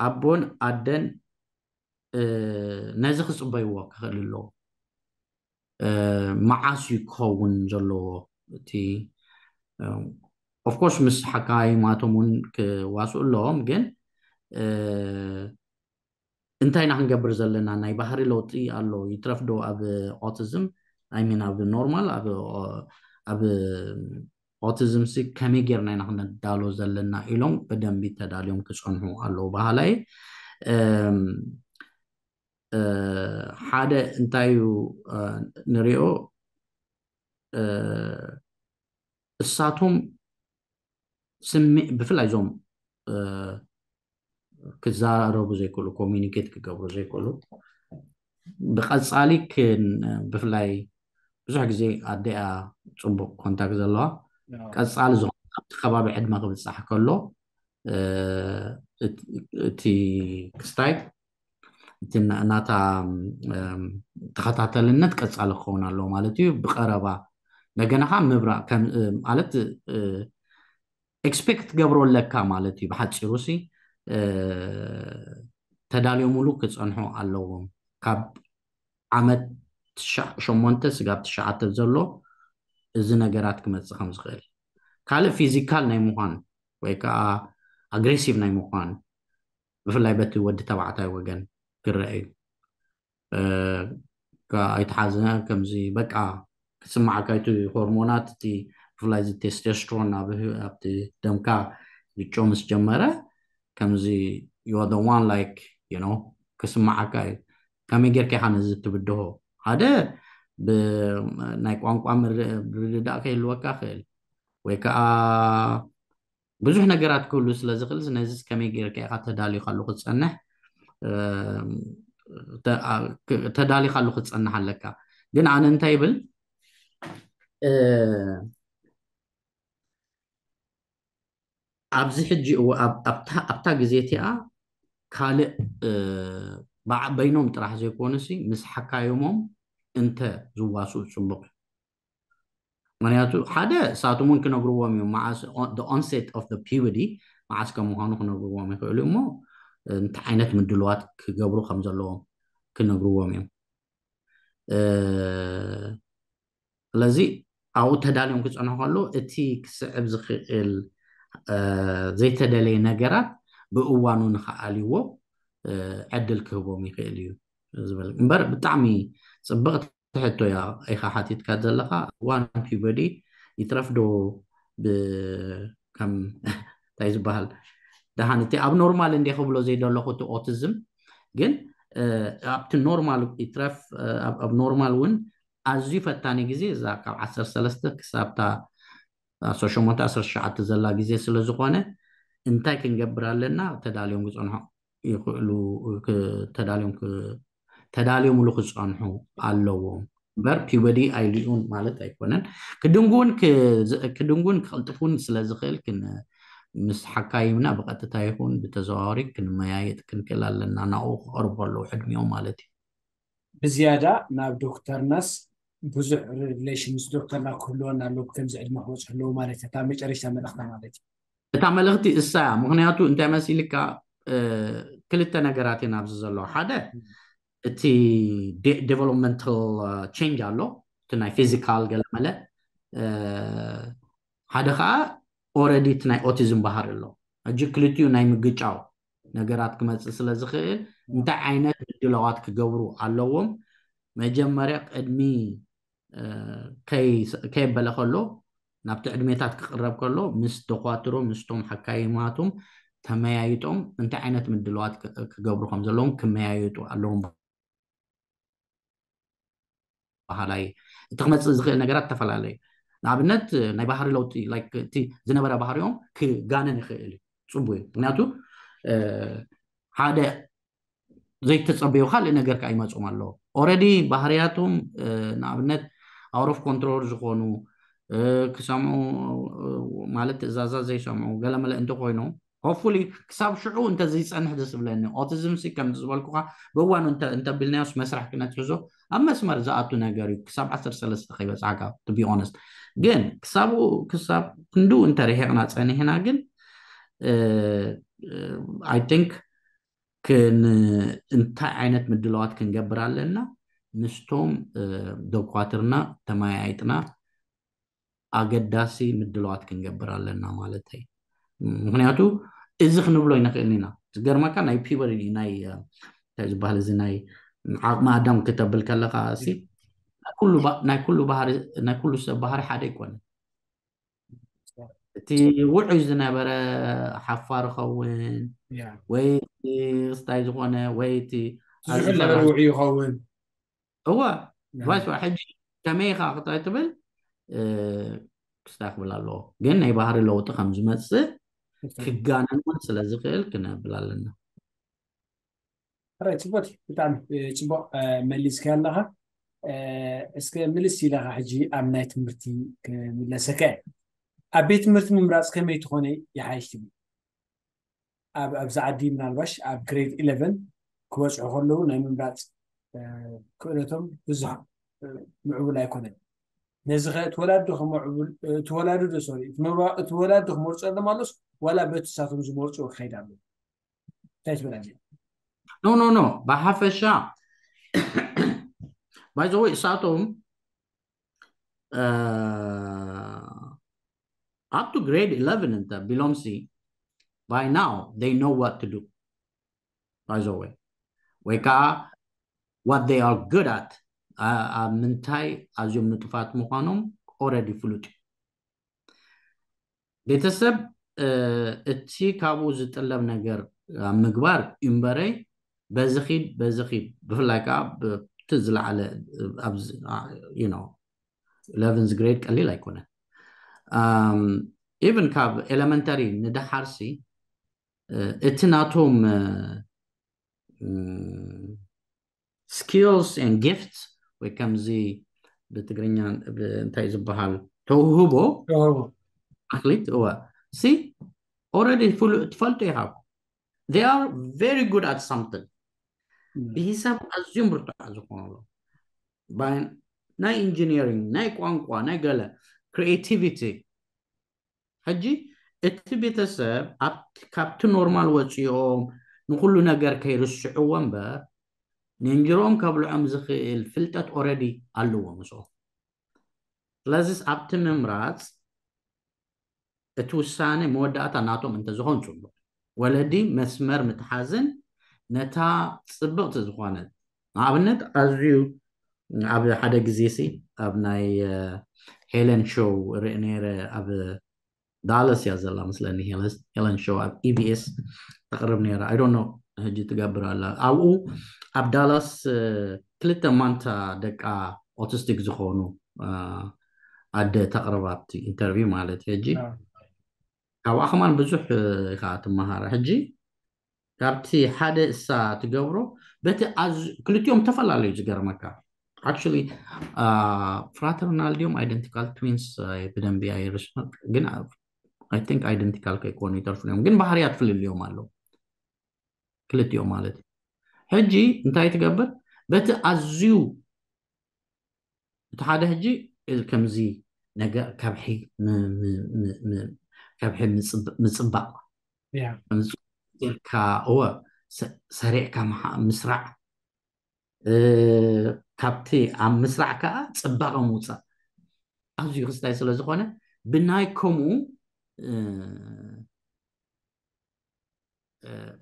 ኣቦን ኣደን ነዚ ክፅበይዎ ክኽእል ኣለዎ መዓስ እዩ ክኸውን ዘለዎ እቲ ኦፍኮርስ ምስ ሓካይማቶም እውን ክዋስኡ ኣለዎም ግን እንታይ ኢና ክንገብር ዘለና ናይ ባህሪ ለውጢ ኣሎ ይትረፍዶ ኣብ ኦቲዝም ኣይሚን ኣብ ኖርማል ኣብ ኦቲዝም ሲ ከመይ ጌርና ኢና ክነዳሎ ዘለና ኢሎም ብደንቢ ተዳልዮም ክፀንሑ ኣለዉ ባህላይ ሓደ እንታይ እዩ ንሪኦ እሳቶም ስሚ ብፍላይ እዞም ክዛረቡ ዘይክእሉ ኮሚኒኬት ክገብሩ ዘይክእሉ ብቀፃሊ ብፍላይ ብዙሕ ግዜ ኣደኣ ፅቡቅ ኮንታክት ዘለዋ ቀፃሊ ዝኾነ ኣብቲ ከባቢ ዕድመ ክብፃሕ ከሎ እቲ ክስታይ እቲ ናታ ተኸታተልነት ቀፃሊ ክኸውን ኣለዎ ማለት እዩ ብቀረባ እንደገና ከዓ ምብራቅ ማለት ኤክስፔክት ትገብሮ ኣለካ ማለት እዩ ብሓፂሩ ሲ ተዳልዮምሉ ክፀንሑ ኣለዎም ካብ ዓመት ሸሞንተ ስጋብ ትሽዓተ ዘሎ እዚ ነገራት ክመፅእ ከም ዝኽእል ካልእ ፊዚካል ናይ ምዃን ወይ ከዓ ኣግሬሲቭ ናይ ምዃን ብፍላይ በቲ ወዲ ተባዕታይ ወገን ክረአ እዩ ኣይተሓዝነ ከምዚ በቃ ክስማዓካ እቲ ሆርሞናት እቲ ብፍላይ እዚ ቴስቴስትሮን ኣብቲ ደምካ ይጮ ምስ ጀመረ ከምዚ you are the one like you know ክስማዓካ እዩ ከመይ ጌርካ ኢኻ ነዚ ትብድሆ ሓደ ናይ ቋንቋ ምርድዳእ ከይህልወካ ክእል ወይ ከዓ ብዙሕ ነገራት ክህሉ ስለ ዝኽእል ነዚ ከመይ ጌርካ ኢኻ ተዳሊኻሉ ክትፀንሕ ተዳሊኻሉ ክትፀንሕ ኣለካ ግን ኣነ እንታይ ይብል ኣብዚ ሕጂ ኣብታ ግዜ እቲኣ ካልእ በይኖም ጥራሕ ዘይኮኑሲ ምስ ሓካዮሞም እንተ ዝዋስኡ ፅቡቅ እዩ ምክንያቱ ሓደ እሳቶም እውን ክነግርዎም እዮም መዓስ onset of the puberty መዓስ ከም ምዃኑ ክነግርዎም ይኽእሉ እሞ እንታይ ዓይነት ምድልዋት ክገብሩ ከም ዘለዎም ክነግርዎም እዮም ስለዚ ኣብኡ ተዳልዮም ክፀንሑ ከለዉ እቲ ክስዕብ ዝኽእል ዘይተደለየ ነገራት ብእዋኑ ንክኣልይዎ ዕድል ክህቦም ይኽእል እዩ ዝብል እምበር ብጣዕሚ ፅብቕቲ ሕቶ እያ ኢኻ ሓቲትካ ዘለኻ እዋን ፒበዲ ይትረፍ ዶ ከም እንታይ ዝበሃል ደሓን እቲ ኣብ ኖርማል እንደ ክብሎ ዘይደለኹ እቲ ኦቲዝም ግን ኣብቲ ኖርማል ይትረፍ ኣብ ኖርማል እውን ኣዝዩ ፈታኒ ግዜ እዛ ካብ ዓሰርተ ሰለስተ ክሳብታ ዓሰርተ ሸሞንተ ዓሰርተ ትሽዓተ ዘላ ግዜ ስለ ዝኾነ እንታይ ክንገብር ኣለና? ተዳልዮም ክጸንሑ ይኽእሉ፣ ክ- ተዳልዮም ክ- ተዳልዮምሉ ክጸንሑ ኣለዎም እምበር ፒበዲ ኣይልዩን ማለት ኣይኮነን። ክድንጉን ክ- ክድንጉን ክቕልጥፉን ስለ ዝኽእል ክን ምስ ሓካይምና ብቐጥታ ይኹን ብተዘዋዋሪ ክንመያየጥ ክንክእል ኣለና፣ ናብኡ ክቐርቡ ኣለዉ ዕድሚኦም ማለት እዩ። ብዝያዳ ናብ ዶክተርናስ ብዙሕ ሪሌሽን ምስ ዶክተርና ክህልወና ኣለዎ፣ ከምዚ ዕድመ ክበፅሑ ኣለዎ ማለት እዩ። እታ መጨረሻ መልእኽታ ማለት እዩ። እታ መልእኽቲ እሳ እያ። ምክንያቱ እንታይ መሲልካ፣ ክልተ ነገራት እየን ኣብዚ ዘለዋ። ሓደ እቲ ዴቨሎፕመንታል ቼንጅ ኣሎ፣ እቲ ናይ ፊዚካል ገለመለ፣ ሓደ ከዓ ኦረዲ እቲ ናይ ኦቲዝም ባህሪ ኣሎ። ሕጂ ክልቲኡ ናይ ምግጫው ነገራት ክመፅእ ስለ ዝኽእል እንታይ ዓይነት ምድላዋት ክገብሩ ኣለዎም? መጀመርያ ቅድሚ ከየበለ ከሎ ናብቲ ዕድሜታት ክቕረብ ከሎ ምስ ደኳትሮ ምስቶም ሓካይማቶም ተመያይጦም እንታይ ዓይነት ምድላዋት ክገብሩ ከም ዘለዎም ክመያየጡ ኣለዎም። ባህላይ እቲ ክመፅእ ዝኽእል ነገራት ዝተፈላለዩ። ንኣብነት ናይ ባህሪ ለውጢ እቲ ዝነበረ ባህሪኦም ክጋነን ይኽእል እዩ። ፅቡቅ እዩ። ምክንያቱ ሓደ ዘይተፀበዩ ካልእ ነገር ከዓ ይመፅኦም ኣለዎ። ኦረዲ ባህርያቶም ንኣብነት ኣውሮፍ ኮንትሮል ዝኾኑ ክሰምዑ ማለት ትእዛዛት ዘይሰምዑ ገለመለ እንተኮይኖም ሆፉሊ ክሳብ ሽዑ እንተዘይፀንሕ ደስ ዝብለኒ። ኦቲዝም ሲ ከም ዝበልኩካ ብእዋኑ እንተቢልናዮስ መስራሕ ክነትሕዞ ኣብ መስመር ዝኣቱ ነገር እዩ። ክሳብ ዓሰርተ ሰለስተ ከይበፅሓካ to be honest። ግን ክሳብ ክንድኡ እንተርሒቕና ፀኒሕና ግን I think እንታይ ዓይነት ምድላዋት ክንገብር ኣለና? ምስቶም ደኳትርና ተመያይጥና ኣገዳሲ ምድላዋት ክንገብር ኣለና ማለት እዩ። ምክንያቱ እዚ ክንብሎ ይንክእል ኢና። ዝገርመካ ናይ ፒበሪ ናይ እንታይ ዝበሃል እዚ ናይ ዓቕሚ ኣዳም ክተብል ከለካ ሲ ናይ ኩሉ ሰብ ባህሪ ሓደ ይኮነ። እቲ ውዑይ ዝነበረ ሓፋር ይኸውን ወይ ስታይ ዝኾነ ወይ እቲ ውዑይ ይኸውን። እወ ባይስ ሕጂ ከመይ ኢኻ ክታይ ትብል ክስታ ክብል ኣለዎ። ግን ናይ ባህሪ ለውጢ ከም ዝመፅእ ክጋነን እውን ስለ ዝኽእል ክነብል ኣለና። ሕራይ ጽቡቅ፣ ብጣዕሚ ጽቡቅ መሊስካ ኣለኻ። እስከ ምልስ ኢለኻ ሕጂ ኣብ ናይ ትምህርቲ ክምለሰካ እየ። ኣብ ቤት ትምህርቲ ምምራፅ ከመይ ትኾነ ይሓይሽ ትብል? ኣብዚ ዓዲ ምናልባሽ ኣብ ግሬድ ኢለቨን ክበፅሑ ከለዉ ናይ ምምራፅ ክእለቶም ብዙሕ ምዕቡል ኣይኮነን። ነዚ ኸ እቲ ወላዲ ዶ እቲ ወላዲ ዶ ክመርፁ ኣለዎም ኣሎስ ዋላ በቲ ንሳቶም ዝመርፅዎ ክኸይድ ኣለዎ? እንታይ ትብል ኣዚ? ኖ ኖ ኖ ብሓፈሻ by the way እሳቶም up to grade eleven እንተ ቢሎም ሲ by now they know what to do by the way ወይ ከዓ what they are good at ኣብ ምንታይ ኣዝዮም ንጡፋት ምዃኖም already ፍሉጥ እዩ። ቤተሰብ እቲ ካብኡ ዝጥለብ ነገር ኣብ ምግባር እምበረይ በዚ ኺድ በዚ ኺድ ብፍላይ ከዓ ብቲ ዝለዓለ ኣብዚ ኢለቨንዝ ግሬድ ቀሊል ኣይኮነን። ኢቨን ካብ ኤለመንተሪ ንደሓርሲ እቲ ናቶም skills and gifts ወይ ከምዚ ብትግርኛ እንታይ ዝበሃል ተውህቦ ኣክሊት እወ ሲ already ትፈልጡ ኢኻ። They are very good at something። ብሂሳብ ኣዝዮም ብርቱዓት ዝኾኑ ኣለዉ። ናይ ኢንጂኒሪንግ፣ ናይ ቋንቋ፣ ናይ ገለ ክሪኤቲቪቲ። ሕጂ እቲ ቤተሰብ ካብቲ ኖርማል ወፂኦም ንኩሉ ነገር ከይርስዕዎ እምበር ንእንጅሮኦም ከብልዖም ዝኽእል ፍልጠት already ኣለዎ ምስኦም። ስለዚስ ኣብቲ ምምራፅ እቲ ውሳነ መወዳእታ ናቶም እንተዝኾን ፅቡቅ። ወለዲ መስመር ምትሓዝን ነታ ፅብቕቲ ዝኾነት ንኣብነት ኣዝዩ ኣብ ሓደ ግዜ ሲ ኣብ ናይ ሄለን ሾው ርኢ ነይረ ኣብ ዳለስ እያ ዘላ መስለኒ ሄለን ሾው ኣብ ኢቢኤስ ተቕርብ ነይራ። I don't know ሕጂ ትገብር ኣላ። ኣብኡ ኣብ ዳላስ ክልተ ማንታ ደቃ ኦቲስቲክ ዝኾኑ ኣደ ተቕርብ ኣብቲ ኢንተርቪው ማለት እዩ። ሕጂ ካብኣ ከማን ብዙሕ ኢኻ ትመሃር። ሕጂ ካብቲ ሓደ እሳ ትገብሮ በቲ ክልቲኦም ተፈላለዩ ዝገርመካ። Actually fraternal ድዮም identical twins ብደንቢ ኣይርስመ ግን I think identical ከይኮኑ ይተርፉ እዮም ግን ባህርያት ፍልልዮም ኣለዉ ክልቲኦም ማለት እዩ። ሕጂ እንታይ ትገብር በቲ ኣዝዩ እቲ ሓደ ሕጂ ከምዚ ነገር ከብሒ ከብሒ ምፅባቕ ኢልካ እወ ሰሪዕካ ምስራዕ ካብቲ ኣብ ምስራዕ ከዓ ፅባቐ ምውፃእ ኣዝዩ ክስታይ ስለ ዝኾነ ብናይ ከምኡ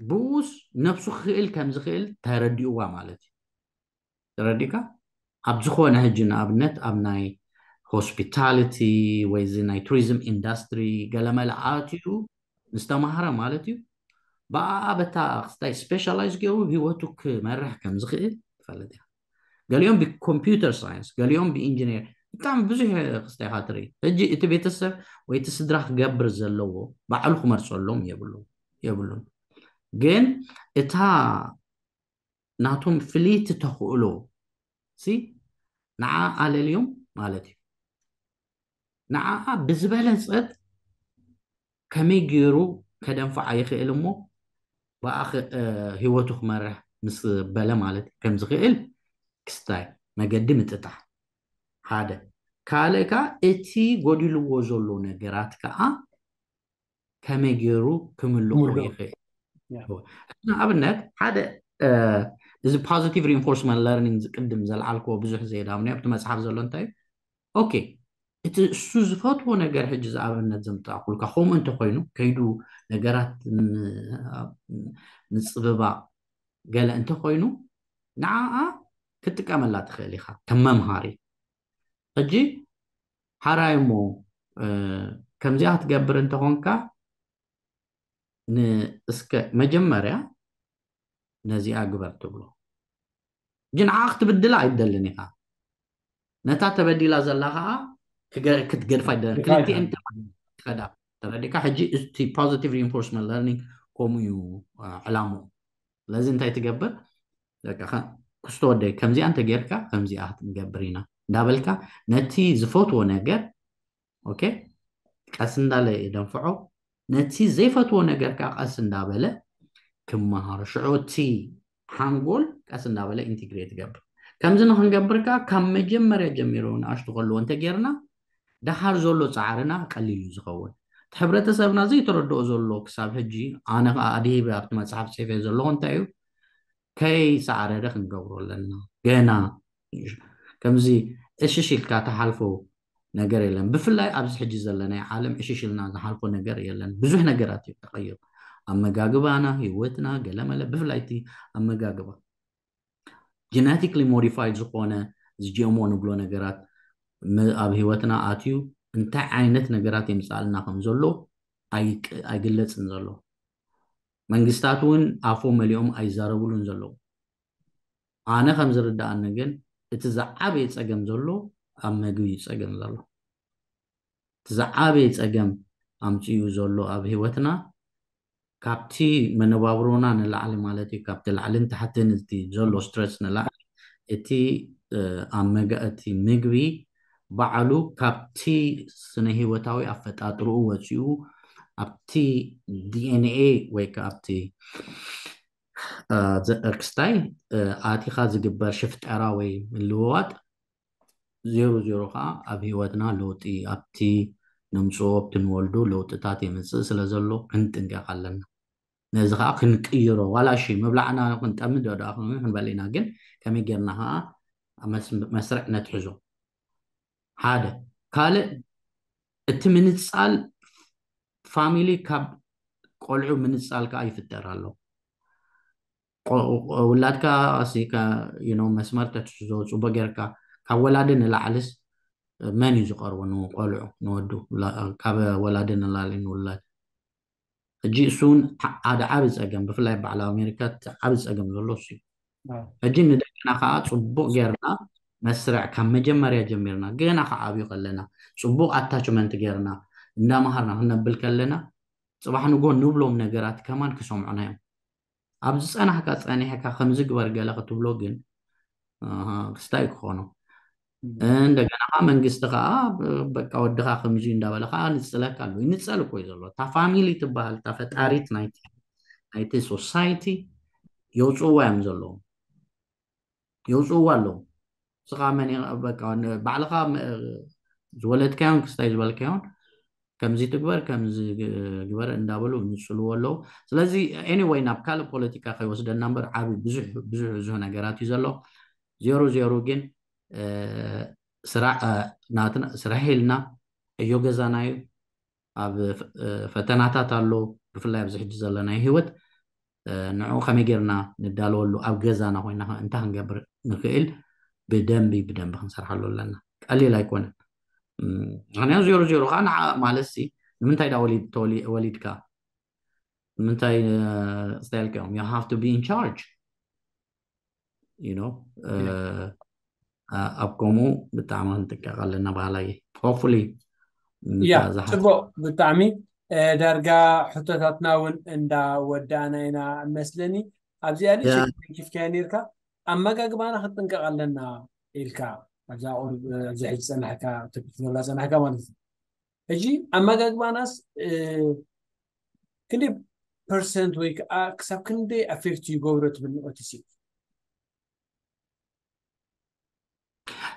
ብኡስ ነብሱ ክኽእል ከም ዝኽእል ተረዲእዋ ማለት እዩ። ተረዲእካ ኣብ ዝኾነ ሕጂ ንኣብነት ኣብ ናይ ሆስፒታሊቲ ወይ እዚ ናይ ቱሪዝም ኢንዳስትሪ ገለመለ ኣትዩ ምስ ተማሃረ ማለት እዩ። ብኣኣ በታ ክስታይ ስፔሻላይዝ ገይሩ ህይወቱ ክመርሕ ከም ዝኽእል ትፈልጥ ኢኻ። ገሊኦም ብኮምፒውተር ሳይንስ፣ ገሊኦም ብኢንጂነር፣ ብጣዕሚ ብዙሕ ክስታይ ኢኻ ትርኢ። ሕጂ እቲ ቤተሰብ ወይ እቲ ስድራ ክገብር ዘለዎ ባዕሉ ክመርፀሎም የብሉ የብሉን። ግን እታ ናቶም ፍልይቲ ተኽእሎ ሲ ንዓ ኣለልዮም ማለት እዩ። ንዓኣ ብዝበለፀት ከመይ ገይሩ ከደንፍዓ ይኽእል እሞ ብኣ ህይወቱ ክመርሕ ምስ በለ ማለት ከም ዝኽእል ክስታይ መገዲ ምጥጣሕ ሓደ ካልእ ከዓ እቲ ጎዲልዎ ዘሎ ነገራት ከዓ ከመይ ገይሩ ክምልኦ ይኽእል ንኣብነት ሓደ እዚ positive reinforcement learning ዝቅድም ዘልዓልክዎ ብዙሕ ዘየዳምኒ ኣብቲ መፅሓፍ ዘሎ እንታይ እዩ okay እቲ እሱ ዝፈትዎ ነገር ሕጂ ዝኣብነት ዘምጣእኩልካ ከምኡ እንተኮይኑ ከይዱ ነገራት ምፅብባቕ ገለ እንተኮይኑ ንዓኣ ክትጥቀመላ ትኽእል ኢኻ ከም መምሃሪ ሕጂ ሓራይ እሞ ከምዚኣ ክትገብር እንተኾንካ እስከ መጀመርያ ነዚኣ ግበር ትብሎ ሕጂ ንዓ ክትብድላ ኣይደልን ኢኻ ነታ ተበዲላ ዘላ ከዓ ክትገድፋ ኣይደልን ክልቲኤን ትኸዳ ተረዲካ ሕጂ እቲ positive reinforcement learning ከምኡ እዩ ዕላምኡ ስለዚ እንታይ ትገብር ክስቶ ወደይ ከምዚኣ እንተጌርካ ከምዚኣ ክንገብር ኢና እንዳበልካ ነቲ ዝፈትዎ ነገር ኦኬ ቀስ እንዳለ የደንፍዖ ነቲ ዘይፈትዎ ነገር ከዓ ቀስ እንዳበለ ክመሃሮ ሽዑ እቲ ሓንጎል ቀስ እንዳበለ ኢንቲግሬት ይገብር ከምዚ ንክንገብር ከዓ ካብ መጀመርያ ጀሚሩ ንኣሽቱ ከልዎ እንተጌርና ደሓር ዘሎ ፃዕርና ቀሊል እዩ ዝኸውን እቲ ሕብረተሰብና ዘይተረድኦ ዘሎ ክሳብ ሕጂ ኣነ ከዓ ኣድሂበ ኣብቲ መፅሓፍ ፅሒፈ ዘለኹ እንታይ እዩ ከይሰዓረረ ክንገብሮ ኣለና ገና ከምዚ እሽሽ ኢልካ ተሓልፎ ነገር የለን ብፍላይ ኣብዚ ሕጂ ዘለናይ ዓለም እሽሽ ኢልና ዝሓልፎ ነገር የለን ብዙሕ ነገራት እዩ ተቀይሩ ኣመጋግባና ህይወትና ገለመለ ብፍላይ እቲ ኣመጋግባ genetically modified ዝኾነ እዚ GMO ንብሎ ነገራት ኣብ ህይወትና ኣትዩ እንታይ ዓይነት ነገራት የምፅኣልና ከም ዘሎ ኣይግለፅን ዘሎ መንግስታት እውን ኣፎ መሊኦም ኣይዛረብሉን ዘለዉ ኣነ ከም ዝርዳኣኒ ግን እቲ ዝዓበየ ፀገም ዘሎ ኣብ መግቢ እዩ ፀገም ዘሎ እቲ ዝዓበየ ፀገም ኣምፅኡ ዘሎ ኣብ ህይወትና ካብቲ መነባብሮና ንላዕሊ ማለት እዩ ካብቲ ላዕልን ታሕትን እቲ ዘሎ ስትረስ ንላዕሊ እቲ ኣብ መጋ እቲ ምግቢ ባዕሉ ካብቲ ስነ ህይወታዊ ኣፈጣጥርኡ ወፂኡ ኣብቲ DNA ወይ ከዓ ኣብቲ ክስታይ ኣቲኻ ዝግበር ሽፍጠራ ወይ ምልውዋጥ ዜሮ ዜሮ ከዓ ኣብ ህይወትና ለውጢ ኣብቲ ነምፅኦ ኣብቲ ንወልዶ ለውጥታት የምፅእ ስለ ዘሎ ክንጥንቀቕ ኣለና ነዚ ከዓ ክንቅይሮ ዋላ እሺ ምብላዕና ክንጠምድ ዶ ደኣ ክንበል ኢና ግን ከመይ ጌርና ከዓ መስርዕ ነትሕዞ ሓደ ካልእ እቲ ምንፃል ፋሚሊ ካብ ቆልዑ ምንፃል ከዓ ይፍጠር ኣሎ ውላድካ መስመር ተትሕዞ ፅቡቅ ጌርካ ካብ ወላዲ ንላዕልስ መን እዩ ዝቀርቦ ንቆልዑ ንወዱ ካብ ወላዲ ንላዕሊ ንውላድ ሕጂ እሱን ሓደ ዓብ ፀገም ብፍላይ በዓል ኣሜሪካ ዓብ ፀገም ዘሎ እሱ እዩ ሕጂ ንደቅና ከዓ ፅቡቅ ጌርና መስርዕ ካብ መጀመርያ ጀሚርና ገና ክዓብዩ ከለና ጽቡቕ ኣታችመንት ጌርና እንዳመሃርና ክነብል ከለና፣ ጽባሕ ንጎ ንብሎም ነገራት ከማን ክሰምዑና እዮም። ኣብ ዝጸናሕካ ጸኒሕካ ከምዚ ግበር ገለ ክትብሎ ግን፣ ኣሃ፣ ክስታይ ክኾኖ። እንደገና ከዓ መንግስቲ ከዓ፣ በቃ፣ ወድኻ ከምዚ እንዳበለ ከዓ ንጽለካ ኣሎ። ይንጸል እኮ እዩ ዘሎ። እታ ፋሚሊ ትበሃል፣ እታ ፈጣሪት ናይቲ፣ ናይቲ ሶሳይቲ የውፅእዋ እዮም ዘለዉ። የውፅእዋ ኣለዉ። ንስኻ መን ኢኻ? በቃ፣ ን-፣ ባዕልኻ መ-፣ ዝወለድካዮን ክስታይ ዝበልካዮን ከምዚ ትግበር፣ ከምዚ ግ-፣ ግበር እንዳበሉ ይንጽልዎ ኣለዉ። ስለዚ፣ ኤኒወይ፣ ናብ ካልእ ፖለቲካ ከይወስደና እምበር፣ ዓቢ ብዙሕ፣ ብዙሕ፣ ብዙሕ ነገራት እዩ ዘሎ። ዜሮ ዜሮ ግን፣ እ፣ ስራ-፣ እ፣ ናትና ስራሕ ኢልና ዕዮ ገዛና እዩ። ኣብ ፈ-፣ እ፣ ፈተናታት ኣሎ፣ ብፍላይ ኣብዚ ሕጂ ዘለናዮ ህይወት፣ እ፣ ንዕኡ ከመይ ጌርና ንዳለወሉ፣ ኣብ ገዛና ኮይና ከ እንታይ ክንገብር ንኽእል፣ ብደንቢ፣ ብደንቢ ክንሰርሓሉ ኣለና። ቀሊል ኣይኮነን። እም፣ ምኽንያቱ ዜሮ ዜሮ ከዓ ንዓ ማለት ሲ፣ ንምንታይ ዳ ወሊድ-፣ ተወሊ-፣ ወሊድካ? ንምንታይ፣ እ፣ ስታይል ከዮም? You have to be in charge. You know? እ፣ Yeah. እ፣ ኣብ ከምኡ ብጣዕሚ ክንጥቀቕ ኣለና ባህላይ። Hopefully፣ ያ፣ ምታ ዝሓት-፣ ጽቡቕ፣ ብጣዕሚ፣ እ፣ ዳርጋ ሕቶታትና እውን እንዳወዳእና ኢና መስለኒ። ኣብዚኣ ንእሽተይ ያ። ተንኪፍካያ ነይርካ፣ ኣመጋግባና ክንጥንቀቕ ኣለና ኢልካ፣ ኣብዛ ቁሩብ፣ እ፣ ኣብዚ ሕጂ ጸናሕካ፣ ትብት ዝብላ ጸናሕካ ማለት እዩ። ሕጂ ኣመጋግባናስ፣ እ፣ ክንደይ ፐርሰንት ወይ ከዓ ክሳብ ክንደይ ኣፌክት ይገብሮ ትብል ንኦቲሲ?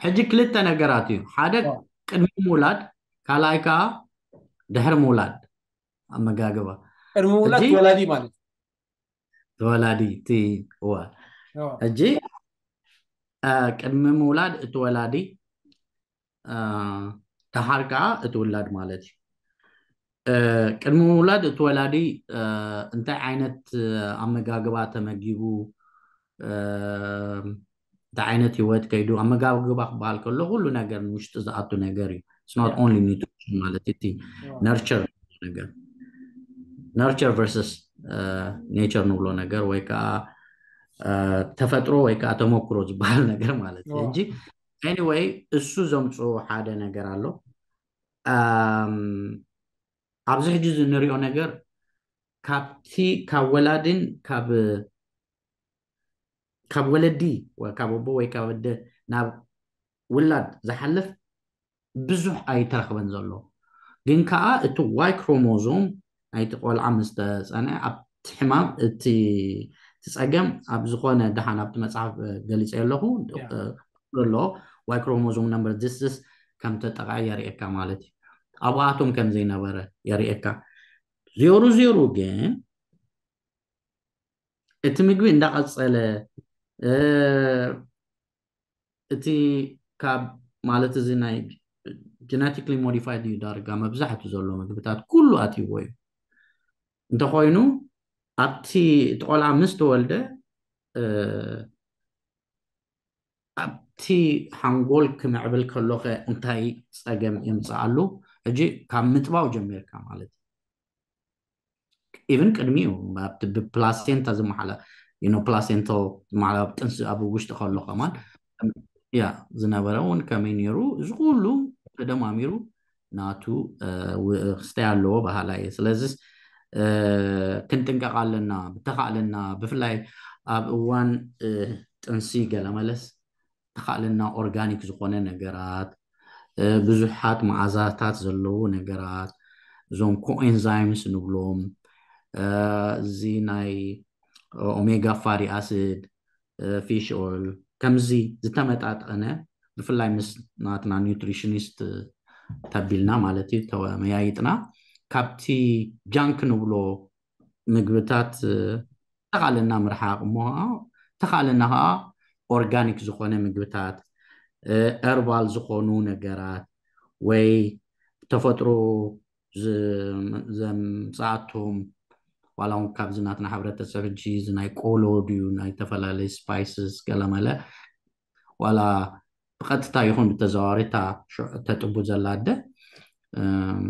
ሕጂ ክልተ ነገራት እዩ። ሓደ ኦ። ቅድሚ ምውላድ፣ ካልኣይ ከዓ ድሕሪ ምውላድ ኣመጋግባ። ቅድሚ ምውላድ ሕጂ ተወላዲ ማለት እዩ። ተወላዲ፣ እቲ፣ እዋ። ኦ። ሕጂ፣ አ፣ ቅድሚ ምውላድ እቲ ወላዲ፣ አ፣ ደሓር ከዓ እቲ ውላድ ማለት እዩ። እ፣ ቅድሚ ምውላድ እቲ ወላዲ፣ እ፣ እንታይ ዓይነት፣ እ፣ ኣመጋግባ ተመጊቡ፣ እ፣ እንታይ ዓይነት ህይወት ከይዱ፣ ኣመጋግባ ክበሃል ከሎ ኩሉ ነገር ንውሽጢ ዝኣቱ ነገር እዩ። It's not Yeah. only nutrition ማለት እቲ Yeah. ነርቸር ነገር፣ ነርቸር ቨርሰስ፣ እ፣ ኔቸር ንብሎ ነገር ወይ ከዓ፣ እ፣ ተፈጥሮ ወይ ከዓ ተመክሮ ዝበሃል ነገር ማለት እዩ። Yeah. ሕጂ ኤኒወይ፣ እሱ ዘምፅኦ ሓደ ነገር ኣሎ። ኣም፣ ኣብዚ ሕጂ እዚ እንሪኦ ነገር ካብቲ፣ ካብ ወላድን ካብ፣ ካብ ወለዲ ወይ ካብ ኣቦ ወይ ካብ ኣደ ናብ ውላድ ዝሓልፍ ብዙሕ ኣይተረኽበን ዘሎ። ግን ከዓ እቲ ዋይ ክሮሞዞም ናይቲ ቆልዓ ምስ ተጸንዐ፣ ኣብቲ ሕማም፣ እቲ፣ እቲ ጸገም ኣብ ዝኾነ ደሓን ኣብቲ መጽሓፍ፣ እ፣ ገሊጸ ኣለኹ፣ ያ። እ፣ ኣሎ፣ ዋይ ክሮሞዞም ነምበር ዚስ ከም ተጠቕዐ የርእየካ ማለት እዩ። ኣብኣቶም ከም ዘይነበረ የርእየካ። ዜሩ ዜሩ ግን እቲ ምግቢ እንዳቐጸለ፣ እ፣ እቲ ካብ ማለት እዚ ናይ ጀነቲክሊ ሞዲፋይድ እዩ ዳርጋ መብዛሕቱ ዘሎ ምግብታት ኩሉ ኣትይዎ እዩ። እንተኾይኑ ኣብቲ እቲ ቆልዓ ምስ ተወልደ፣ እ፣ ኣብቲ ሓንጎል ክምዕብል ከሎኸ እንታይ ጸገም የምጽኣሉ? ሕጂ ካብ ምጥባው ጀሚርካ ማለት እዩ። ኢቭን ቅድሚኡ ኣብቲ ብፕላሴንታ ዝመሓላ፣ you know፣ ፕላሴንታ ዝመሓላ ኣብ ጥንሲ ኣብ ውሽጢ ከሎ ከማን፣ ያ፣ ዝነበረ እውን ከመይ ነይሩ፣ እዚ ኩሉ ተደማሚሩ ናቱ፣ እ፣ ው-፣ ክስታይ ኣለዎ በሃላይ እየ። ስለዚስ፣ እ፣ ክንጥንቀቕ ኣለና፣ ብተኻእለና፣ ብፍላይ ኣብ እዋን፣ እ፣ ጥንሲ ገለ መለስ ተኻእለና ኦርጋኒክ ዝኾነ ነገራት፣ እ፣ ብዙሓት መዓዛታት ዘለዉ ነገራት፣ እዞም ኮኤንዛይምስ ንብሎም፣ እ፣ እዚ ናይ ኦሜጋ ፋቲ ኣሲድ፣ እ፣ ፊሽ ኦይል፣ ከምዚ ዝተመጣጠነ፣ ብፍላይ ምስ ናትና ኒውትሪሽኒስት ተቢልና ማለት እዩ፣ ተመያይጥና፣ ካብቲ ጃንክ ንብሎ ምግብታት፣ እ፣ ተኻእለና ምርሓቕ እሞ፣ ተኻእለና ከዓ ኦርጋኒክ ዝኾነ ምግብታት፣ እ፣ ኸርባል ዝኾኑ ነገራት ወይ ተፈጥሮ ዝ-፣ ዘምፅኣቶም፣ ዋላ እውን ካብዚ ናትና ሕብረተሰብ ሕጂ እዚ ናይ ቆሎ ድዩ፣ ናይ ዝተፈላለዩ ስፓይስስ ገለመለ፣ ዋላ ብቐጥታ ይኹን ብተዘዋዋሪ እታ ሽዑ ተጥቡ ዘላ ኣደ፣ እም፣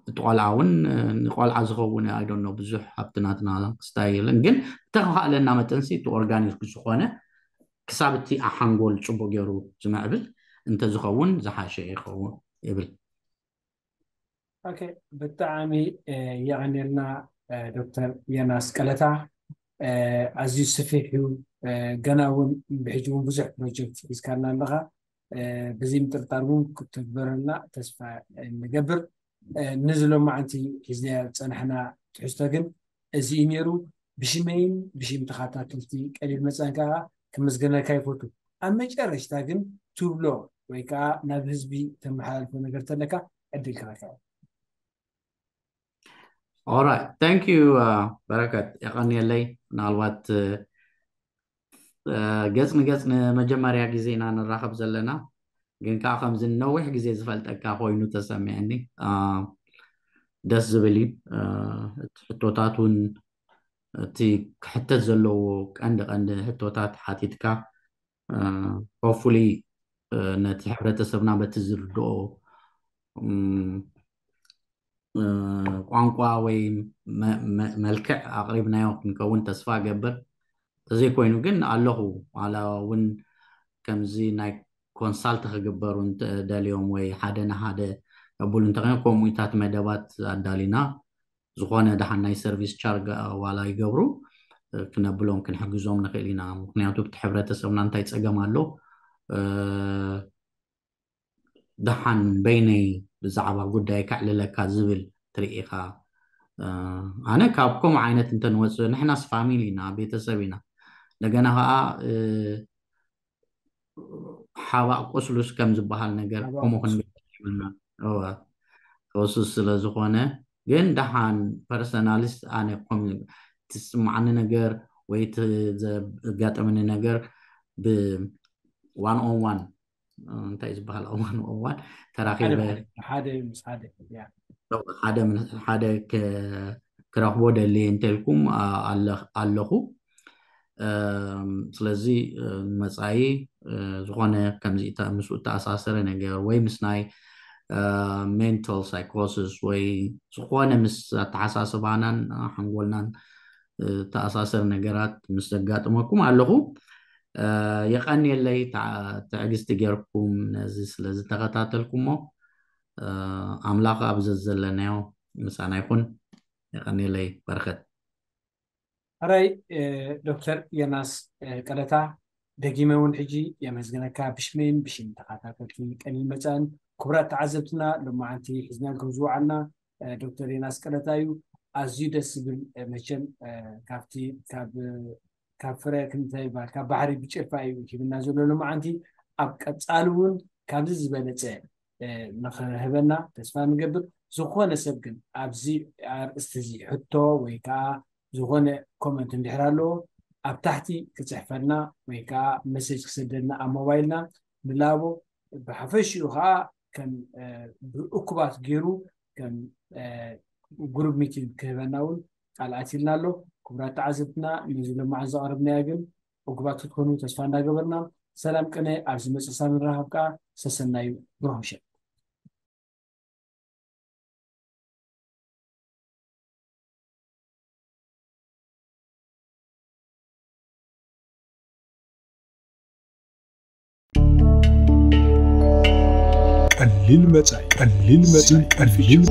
እቲ ቆልዓ እውን፣ እ፣ ንቆልዓ ዝኸውን፣ I don't know፣ ብዙሕ ኣብቲ ናትና ክስታይ የለን። ግን ብተኻእለና መጠንሲ እቲ ኦርጋኒክ ዝኾነ ክሳብ እቲ ሓንጎል ጽቡቕ ገይሩ ዝምዕብል እንተዝኸውን ዝሓሸ ይኸውን ይብል። ኦኬ፣ ብጣዕሚ የቐንየልና ዶክተር ዮናስ ቀለታ። ኣዝዩ ስፊሕ እዩ። ገና እውን ብሕጂ እውን ብዙሕ ፕሮጀክት ሒዝካልና ኣለኻ። ብዚ ምጥርጣር እውን ክትግበረልና ተስፋ ንገብር። ንዚ ሎማዓንቲ ሒዝናዮ ዝፀናሕና ትሕዝቶ ግን እዚ እዩ ነይሩ። ብሽመይን ብሽም ተኸታተልቲ ቀሊል መፀን ከዓ ክምስገነካ ይፈቱ። ኣብ መጨረሽታ ግን ትብሎ ወይ ከዓ ናብ ህዝቢ ተመሓላልፎ ነገር ተለካ ዕድል ክረካ። Alright, thank you በረከት፣ የቐንየለይ። ምናልባት ገጽ ንገጽ ንመጀመርያ ግዜ ኢና ንራኸብ ዘለና፣ ግን ከዓ ከምዚ ነዊሕ ግዜ ዝፈልጠካ ኮይኑ ተሰሚዐኒ። ደስ ዝብል እዩ። እቲ ሕቶታት እውን፣ እቲ ክሕተት ዘለዎ ቀንዲ ቀንዲ ሕቶታት ሓቲትካ፣ hopefully ነቲ ሕብረተሰብና በቲ ዝርድኦ ቋንቋ ወይ መልክዕ ኣቕሪብናዮ ክንከውን ተስፋ እገብር። ተዘይኮይኑ ግን ኣለኹ። ዋላ እውን ከምዚ ናይ ኮንሳልት ክግበሩ እንተደልዮም ወይ ሓደ ንሓደ ከብሉ እንተኾይኑ፣ ከምኡታት መደባት ኣዳሊና፣ ዝኾነ ደሓን ናይ ሰርቪስ ቻርጅ ዋላ ይገብሩ፣ ክነብሎም ክንሕግዞም ንኽእል ኢና። ምክንያቱ እቲ ሕብረተሰብና እንታይ ፀገም ኣሎ፣ ደሓን በይነይ ብዛዕባ ጉዳይ ከዕልለካ ዝብል ትርኢ ኢኻ። ኣነ ካብ ከምኡ ዓይነት እንተንወፅእ፣ ንሕናስ ፋሚሊ ኢና፣ ቤተሰብ ኢና። እንደገና ከዓ ሓባእ ቁስሉስ ከም ዝበሃል ነገር ከምኡ ክንብል ይብልና። እወ፣ ቁስሉስ ስለ ዝኾነ ግን ደሓን ፐርሰናልስ ኣነ ከም ትስማዓኒ ነገር ወይ ዘጋጠመኒ ነገር ብ one on one እንታይ ዝበሃል one on one ተራኺበ ሓደ ምስ ሓደ ሓደ ሓደ ክረኽቦ ደልየ እንተልኩም ኣለኹ። ስለዚ መፃኢ ዝኾነ ከምዚ ምስኡ እተኣሳሰረ ነገር ወይ ምስ ናይ ሜንታል ሳይኮሲስ ወይ ዝኾነ ምስ ኣተሓሳስባናን ሓንጎልናን እተኣሳሰር ነገራት ምስ ዘጋጥመኩም ኣለኹ። የቐንየለይ ትዕግስቲ ጌርኩም ነዚ ስለ ዝተኸታተልኩሞ። ኣምላኽ ኣብ ዘዘለናዮ ምሳና ይኹን። የቐንየለይ በረኸት። ሕራይ ዶክተር ዮናስ ቀለታ፣ ደጊመ እውን ሕጂ የመስግነካ ብሽመይን ብሽም ተኸታተልቲ ቀሊል መጻእን። ክቡራት ተዓዘብትና፣ ሎማዓንቲ ሒዝናልኩም ዝወዓልና ዶክተር ዮናስ ቀለታ እዩ። ኣዝዩ ደስ ዝብል መቸም ካብቲ ካብ ፍረ ክንታይ ይበሃል ካብ ባሕሪ ብጭልፋ እዩ ሂብና ዘሎ ሎማዓንቲ። ኣብ ቀፃሊ እውን ካብዚ ዝበለፀ ንክህበና ተስፋ ንገብር። ዝኾነ ሰብ ግን ኣብዚ ኣርእስቲ እዚ ሕቶ ወይ ከዓ ዝኾነ ኮመንት እንድሕር ኣለዎ ኣብ ታሕቲ ክፅሕፈልና ወይ ከዓ መሴጅ ክሰደልና ኣብ ሞባይልና ንላቦ። ብሓፈሽኡ ከዓ ከም ብእኩባት ገይሩ ከም ግሩፕ ሚቲንግ ክህበና እውን ቃል ኣትልና ኣሎ። ክቡራት ተዓዘብትና ነዚ ሎማዓንቲ ዘቕረብናዮ ግን እኩባት ክትኮኑ ተስፋ እንዳገበርና ሰላም ቅነ ኣብ ዝመፅእ ሳምንት ንራኸብ ከዓ ሰሰናዩ ብሩኽ ምሸት። ቀሊል መጻኢ ቀሊል መጻኢ ቀሊል